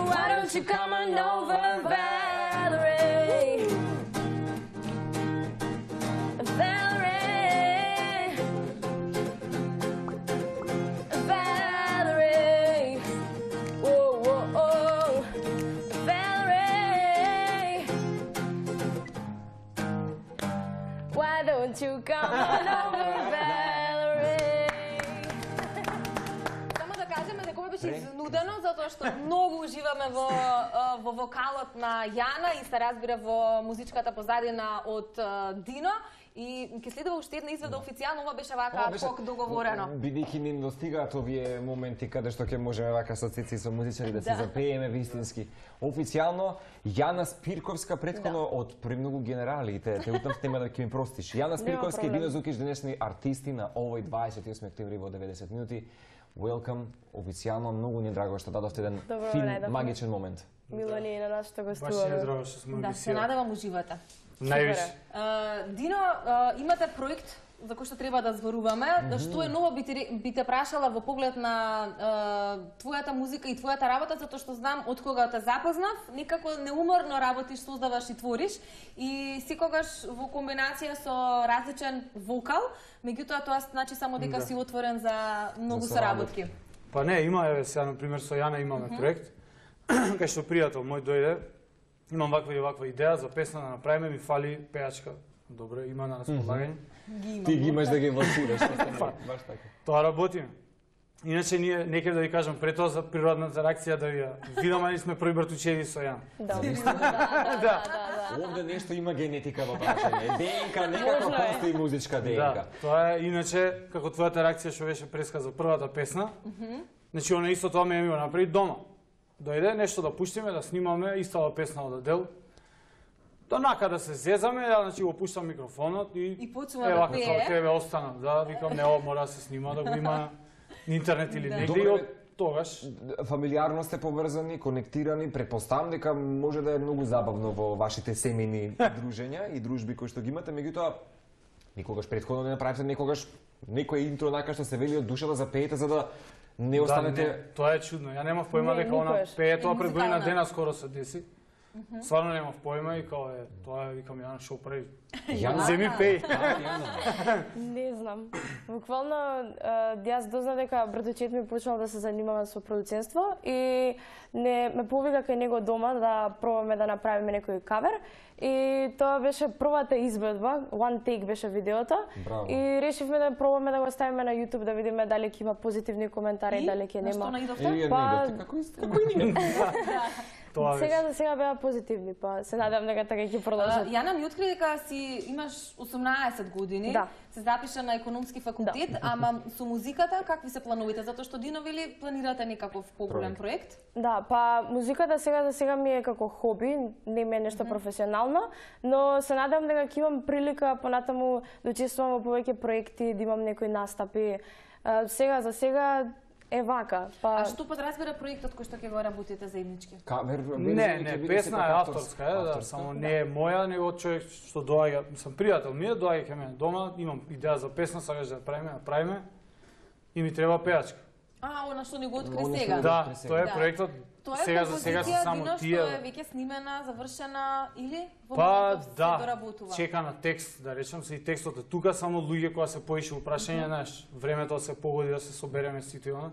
Why don't you come on over, Valerie? Won't you come on over, Valerie? Само да кажеме дека ова беше изнудено, затоа што многу уживаме во, во вокалот на Јана и се разбира во музичката позадина од Дино. И ќе следува уште една изведа официјално, ова беше вака кок договорено. Бидејќи ни достигаат овие моменти каде што ќе можеме вака со цици и со музичари да се запееме вистински. Официјално Јана Спирковска претходно од премногу генерали, те те утам нема да ќе ми простиш. Јана Спирковска и Дино Зукич денешни артисти на овој дваесет и осми октомври во деветдесет минути. Welcome, официјално многу ни е драго што дадовте еден фин магичен момент. Мило ни е на нас што гостуваме. Баш е драго што сме Да, се надевам уживате. Највише. Дино, имате проект за кој што треба да зборуваме. Што е ново би те прашала во поглед на твојата музика и твојата работа, затоа што знам од кога те запознав, некако неуморно работиш, создаваш и твориш и секогаш во комбинација со различен вокал, меѓутоа тоа значи само дека си отворен за многу соработки. Па не, има, еве сега на пример со Јана имаме проект, кај што пријател мој дојде. Имам ваква и ваква идеја за песна да направиме, ми фали пејачка. Добро, има на располагање. Ти ги имаш да ги власираш, баш така. Тоа работиме. Иначе ние некој да ви кажам пред тоа за природната реакција да ви ја видам, али сме први братучеви со Јан. Да. Да. Овде нешто има генетика во прашање. ДНК некако постои музичка ДНК. Да, тоа е иначе како твојата реакција што беше преска за првата песна. Значи она исто тоа ме ми го направи дома. Дојде нешто да пуштиме, да снимаме, истава песна од Адел. Донака да се зезаме, ја значи го пуштам микрофонот и и почнува да пее. Ева, тебе остана, да, викам не, ова мора да се снима, да го има на интернет или негде и од тогаш. Фамилиарно сте поврзани, конектирани, претпоставам дека може да е многу забавно во вашите семејни дружења и дружби кои што ги имате, меѓутоа никогаш претходно не направите некогаш некој интро нака што се вели од душа да запеете за да не останете... Да, не, тоа е чудно. Ја немав појма дека она пее тоа пред година дена скоро се деси. Стварно немав појма и као е, тоа е, викам, Јана, шо прави? Земи пеј. Не знам. Буквално, јас дознав дека братучет ми почнал да се занимава со продуценство и не ме повика кај него дома да пробаме да направиме некој кавер. И тоа беше првата изведба, one take беше видеото. Браво. И решивме да пробаме да го ставиме на YouTube да видиме дали ќе има позитивни коментари, дали ќе нема. И? На што наидовте? Па... Како и ние? Сега за сега беа позитивни, па се надевам дека така ќе продолжат. Јана ми откри дека си имаш осумнаесет години, да. Се запиша на економски факултет, да. Ама со музиката какви се плановите? Затоа што Дино вели планирате некаков поголем проект? Да, па музиката сега за сега ми е како хоби, не ми е нешто mm -hmm. професионално, но се надевам дека ќе имам прилика понатаму да учествувам во повеќе проекти, да имам некои настапи. Сега за сега е вака. Па... А што подразбира проектот кој што ќе го работите заеднички? Кавер, не, не, песна е авторска, е, да, само не е моја, него човек што доаѓа, сам пријател ми е, доаѓа кај мене дома, имам идеја за песна, сакаш да правиме, да правиме и ми треба пејачка. А, она што ни го откри сега? Да, тоа е проектот. Тоа е сега за сега се само Дино, тие. Тоа е веќе снимена, завршена или во па, моментов да, се доработува? чека на текст, да речем се и текстот е тука, само луѓе кога се поише упрашање, знаеш, времето се погоди да се собереме сите она.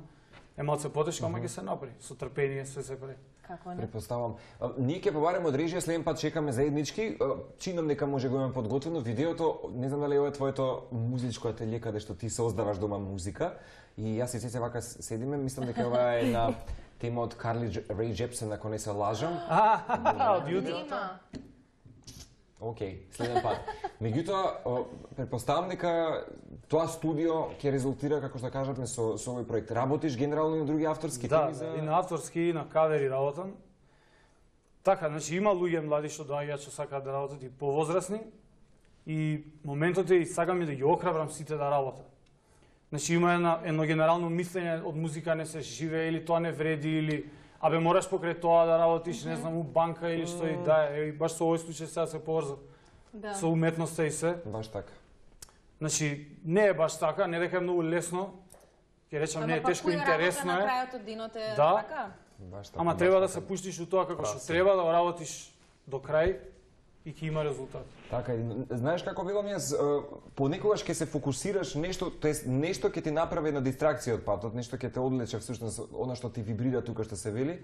Е малце потешко, ама ќе се направи. Со трпение све се прави. Како не? Предпоставам. Ние ќе побараме од режија, следен пат чекаме заеднички. Чинам дека може го имаме подготвено видеото. Не знам дали ова е твоето музичко ателје каде што ти создаваш дома музика. И јас и се вака седиме, мислам дека ова е на тема од Карли Рей Джепсен, ако не се лажам. А, од јутро. Океј, следен пат. Меѓутоа, претпоставам дека тоа студио ќе резултира, како што кажавме, со, со овој проект. Работиш генерално и на други авторски да, теми за... Да, и на авторски, и на кавери работам. Така, значи има луѓе млади што доаѓаат што сакаат да работат и повозрасни. И моментот е и сакам и да ги охрабрам сите да работат. Значи има едно, едно генерално мислење од музика не се живее или тоа не вреди или абе мораш покрај тоа да работиш, mm -hmm. не знам, у банка или што и да е. И баш со овој случај сега се поврза да. Со уметноста и се. Баш така. Значи, не е баш така, не дека е многу лесно, ќе речам, ама не е тешко, интересно е. На крајот од денот е да, така? Баш така. Ама треба да се пуштиш у тоа како што треба, да го работиш до крај и ќе има резултат. Така, знаеш како билам јас, понекогаш ќе се фокусираш нешто, тоест нешто ќе ти направи една дистракција од патот, нешто ќе те одлече всушност она што ти вибрира тука што се вели.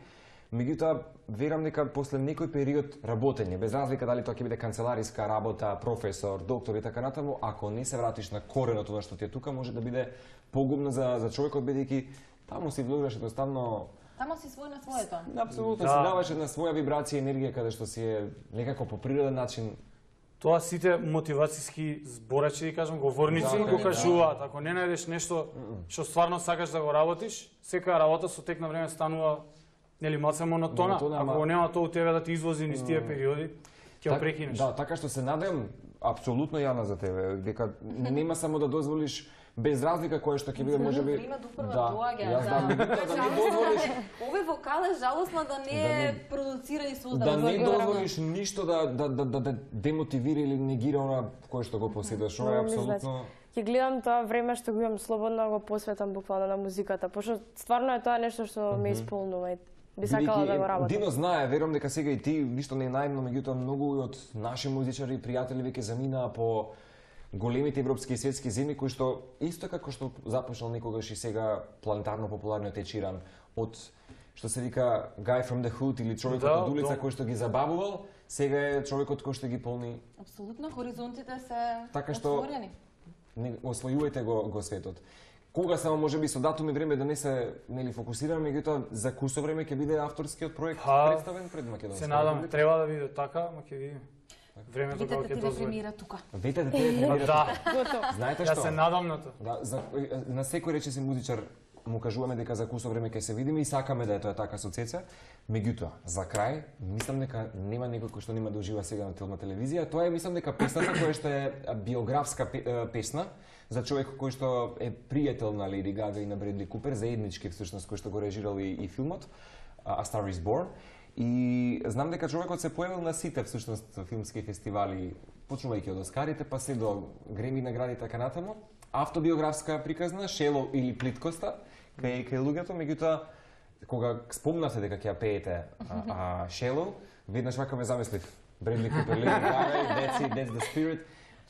Меѓутоа, верам дека после некој период работење, без разлика дали тоа ќе биде канцелариска работа, професор, доктор и така натаму, ако не се вратиш на кореното на што ти е тука, може да биде погубно за за човекот, бидејќи таму си влогуваш едноставно. Тамо си свој на своето. Апсолутно, да. Си даваш една своја вибрација, енергија, каде што си е некако по природен начин. Тоа сите мотивацијски зборачи, да кажам, говорници Да, го да. кажуваат. Ако не најдеш нешто што стварно сакаш да го работиш, секоја работа со тек на време станува нели малце монотона. Монотона, Ако ама- го нема тоа у тебе да ти извози низ тие периоди, ќе го прекинеш. Да, така што се надевам апсолутно Јана за тебе, дека нема само да дозволиш без разлика кое што ќе биде можеби. Времето упорно Да, доаѓа. јас да меѓутоа да не дозволиш Овој вокал е жалосно да не е продуцира и создава. да не дозволиш ништо да да да да, да демотивира или негира она кое што го поседаш. Ова е апсолутно. Ќе гледам тоа време што го имам слободно, го посветам буквално на музиката, пошто стварно е тоа нешто што ме исполнува и би сакала да го работам. Дино знае, верувам дека сега и ти ништо не е наивно, меѓутоа многу од наши музичари и пријатели веќе заминаа по големите европски и светски земји кои што исто како што започнал некогаш и сега планетарно популарниот Ед Ширан од што се вика Guy from the Hood или човекот Да, од улица да. кој што ги забавувал, сега е човекот кој што ги полни. Апсолутно, хоризонтите се Така што- отворени. Не освојувајте го го светот. Кога само можеби со датум и време да не се нели фокусираме, меѓутоа за кусо време ќе биде авторскиот проект Па, представен пред Македонија. Се надам, треба да биде така, ма ќе видиме. Времето Видете кога ќе ти дозволи. премира тука. Вете да тебе премира. Да, Знаете јас што? се надам на тоа. Да, за, на секој речиси музичар му кажуваме дека за кусо време ќе се видиме и сакаме да е тоа така со Цеца. Меѓутоа, за крај, мислам дека нема некој кој што нема да ужива сега на телна телевизија. Тоа е, мислам дека песната која што е биографска пе- е, песна за човек кој што е пријател на Леди Гага и на Бредли Купер, заеднички всушност кој што го режирал и, и филмот A Star is Born. И знам дека човекот се појавил на сите всушност филмски фестивали, почнувајќи од Оскарите, па се до Греми награди така натаму. Автобиографска приказна, Шело или Плиткоста, кај кај луѓето, меѓутоа кога спомнавте дека ќе ја пеете а, а Шело, веднаш вака ме замислив. Бредли Купер, Леди Гага, That's it, That's the Spirit.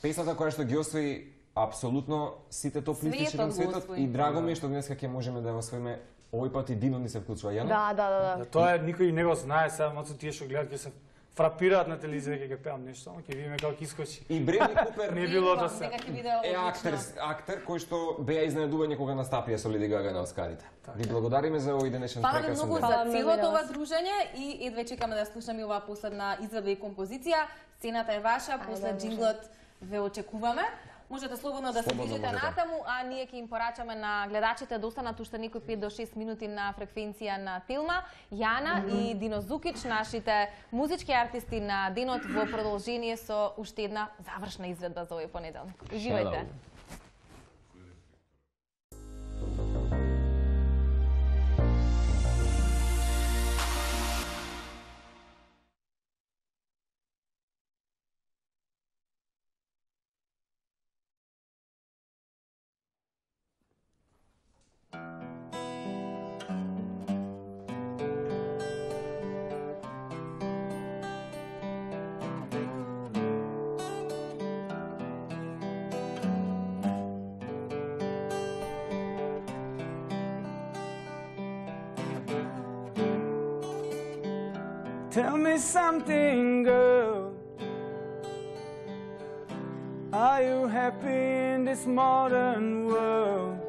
Песната која што ги освои апсолутно сите топ листичи Светот на го светот освои. и драго ми е што денеска ќе можеме да ја освоиме. Овој пат и Дино ни се вклучува, Јана. Да, да, да, да. Да, тоа е никој не го знае, сега мацу тие што гледат ќе се фрапираат на телевизија дека ќе пеам нешто, ама ќе видиме како ќе искочи. И Бредли Купер Не било да се. Нека ќе биде е одлично. актер, актер кој што беа изненадување кога настапија со Леди Гага на Оскарите. Ви благодариме за овој денешен Фала ви прекрасен многу ден. за Фала многу целото на ова вас. дружење и едве чекаме да слушаме оваа последна изведба и композиција. Сцената е ваша, после Ајде, може. джинглот ве очекуваме. Можете слободно да се Слободно движите можете. натаму, а ние ќе им порачаме на гледачите да останат уште некои пет до шест минути на фреквенција на Телма. Јана и Дино Зукич, нашите музички артисти на денот во продолжение со уште една завршна изведба за овој понеделник. Уживајте. Tell me something, girl. Are you happy in this modern world?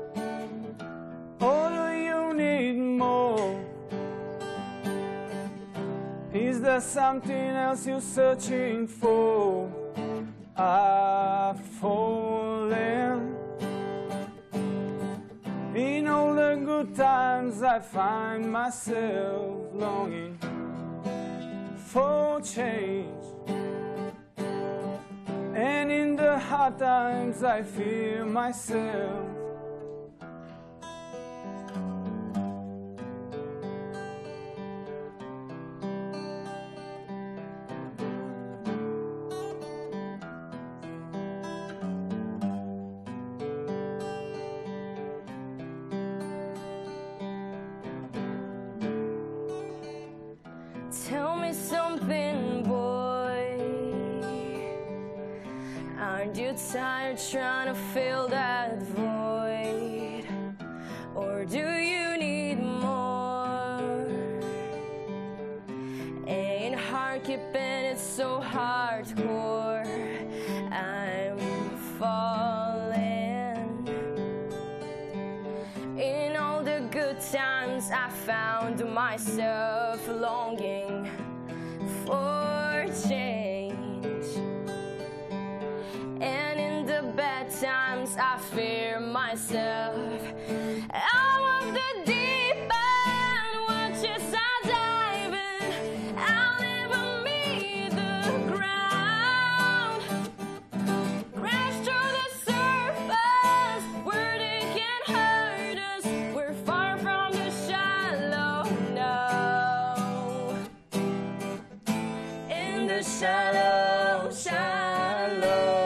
Or do you need more? Is there something else you're searching for? I've fallen. In all the good times I find myself longing for change, and in the hard times I feel myself. Tell me something, boy. Aren't you tired trying to fill that void? Or do you need more? market and it's so hardcore. I'm falling. In all the good times I found myself longing for change. And in the bad times I fear myself out of the deep end. Watch as I dive in, I'll never meet the ground. Crash through the surface where they can't hurt us. We're far from the shallow now. In the shallow, shallow.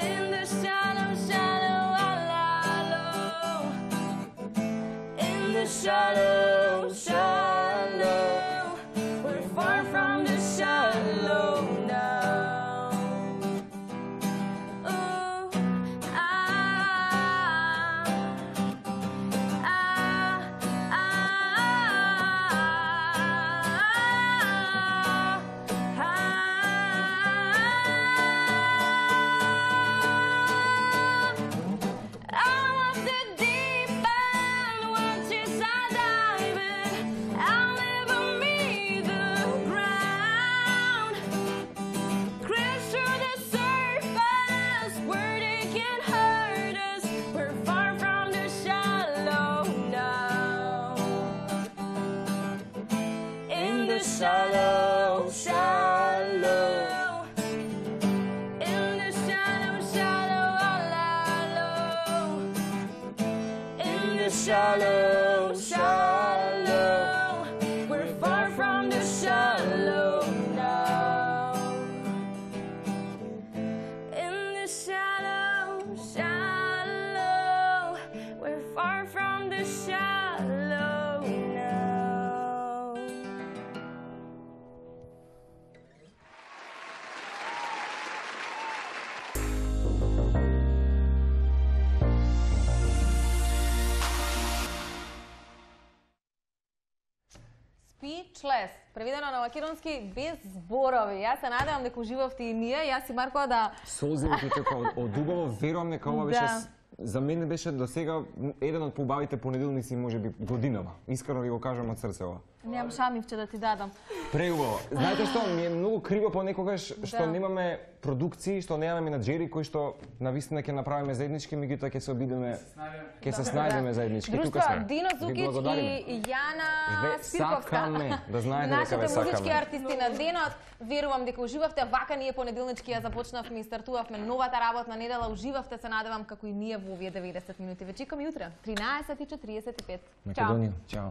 In the shallow, shallow, shallow. In the shallow, shallow. We're far from the shallow now. Ooh, ah, ah, ah, out of the deep end, watch as I dive in, I'll never meet the ground. Crash through the surface where they can't hurt us. We're far from the shallow now. In the shallow, shallow. In the shallow, shallow, shallow. In the shallow, shallow. We're far from the shallow now. In the shallow, shallow. We're far from the shallow now. Speechless, преведено на македонски без зборови. Јас се надевам дека уживавте и ние. Јас и Марко да Солзивите така од, од убаво, верувам дека ова беше Да. с- за мене беше до сега еден од поубавите понеделници можеби годинава. Искрено ви го кажам од срце ова. немам шамивче да ти дадам. Преубаво. Знаете што, ми е многу криво понекогаш што Да. немаме продукции, што немаме менаџери кои што навистина ќе направиме заеднички, меѓутоа ќе се обидеме, ќе се снајдеме заеднички. Тука Друштво, сме. Дино Ви Зукич благодариме. и Јана Ве- Спирковска. сакаме да знаете дека Нашите ве сакаме. музички артисти на денот. Верувам дека уживавте. Вака ние понеделнички ја започнавме и стартувавме новата работна недела. Уживавте, се надевам како и ние во овие деветдесет минути. Ве чекам и утре, тринаесет и четириесет и пет. Чао. Македонија, чао.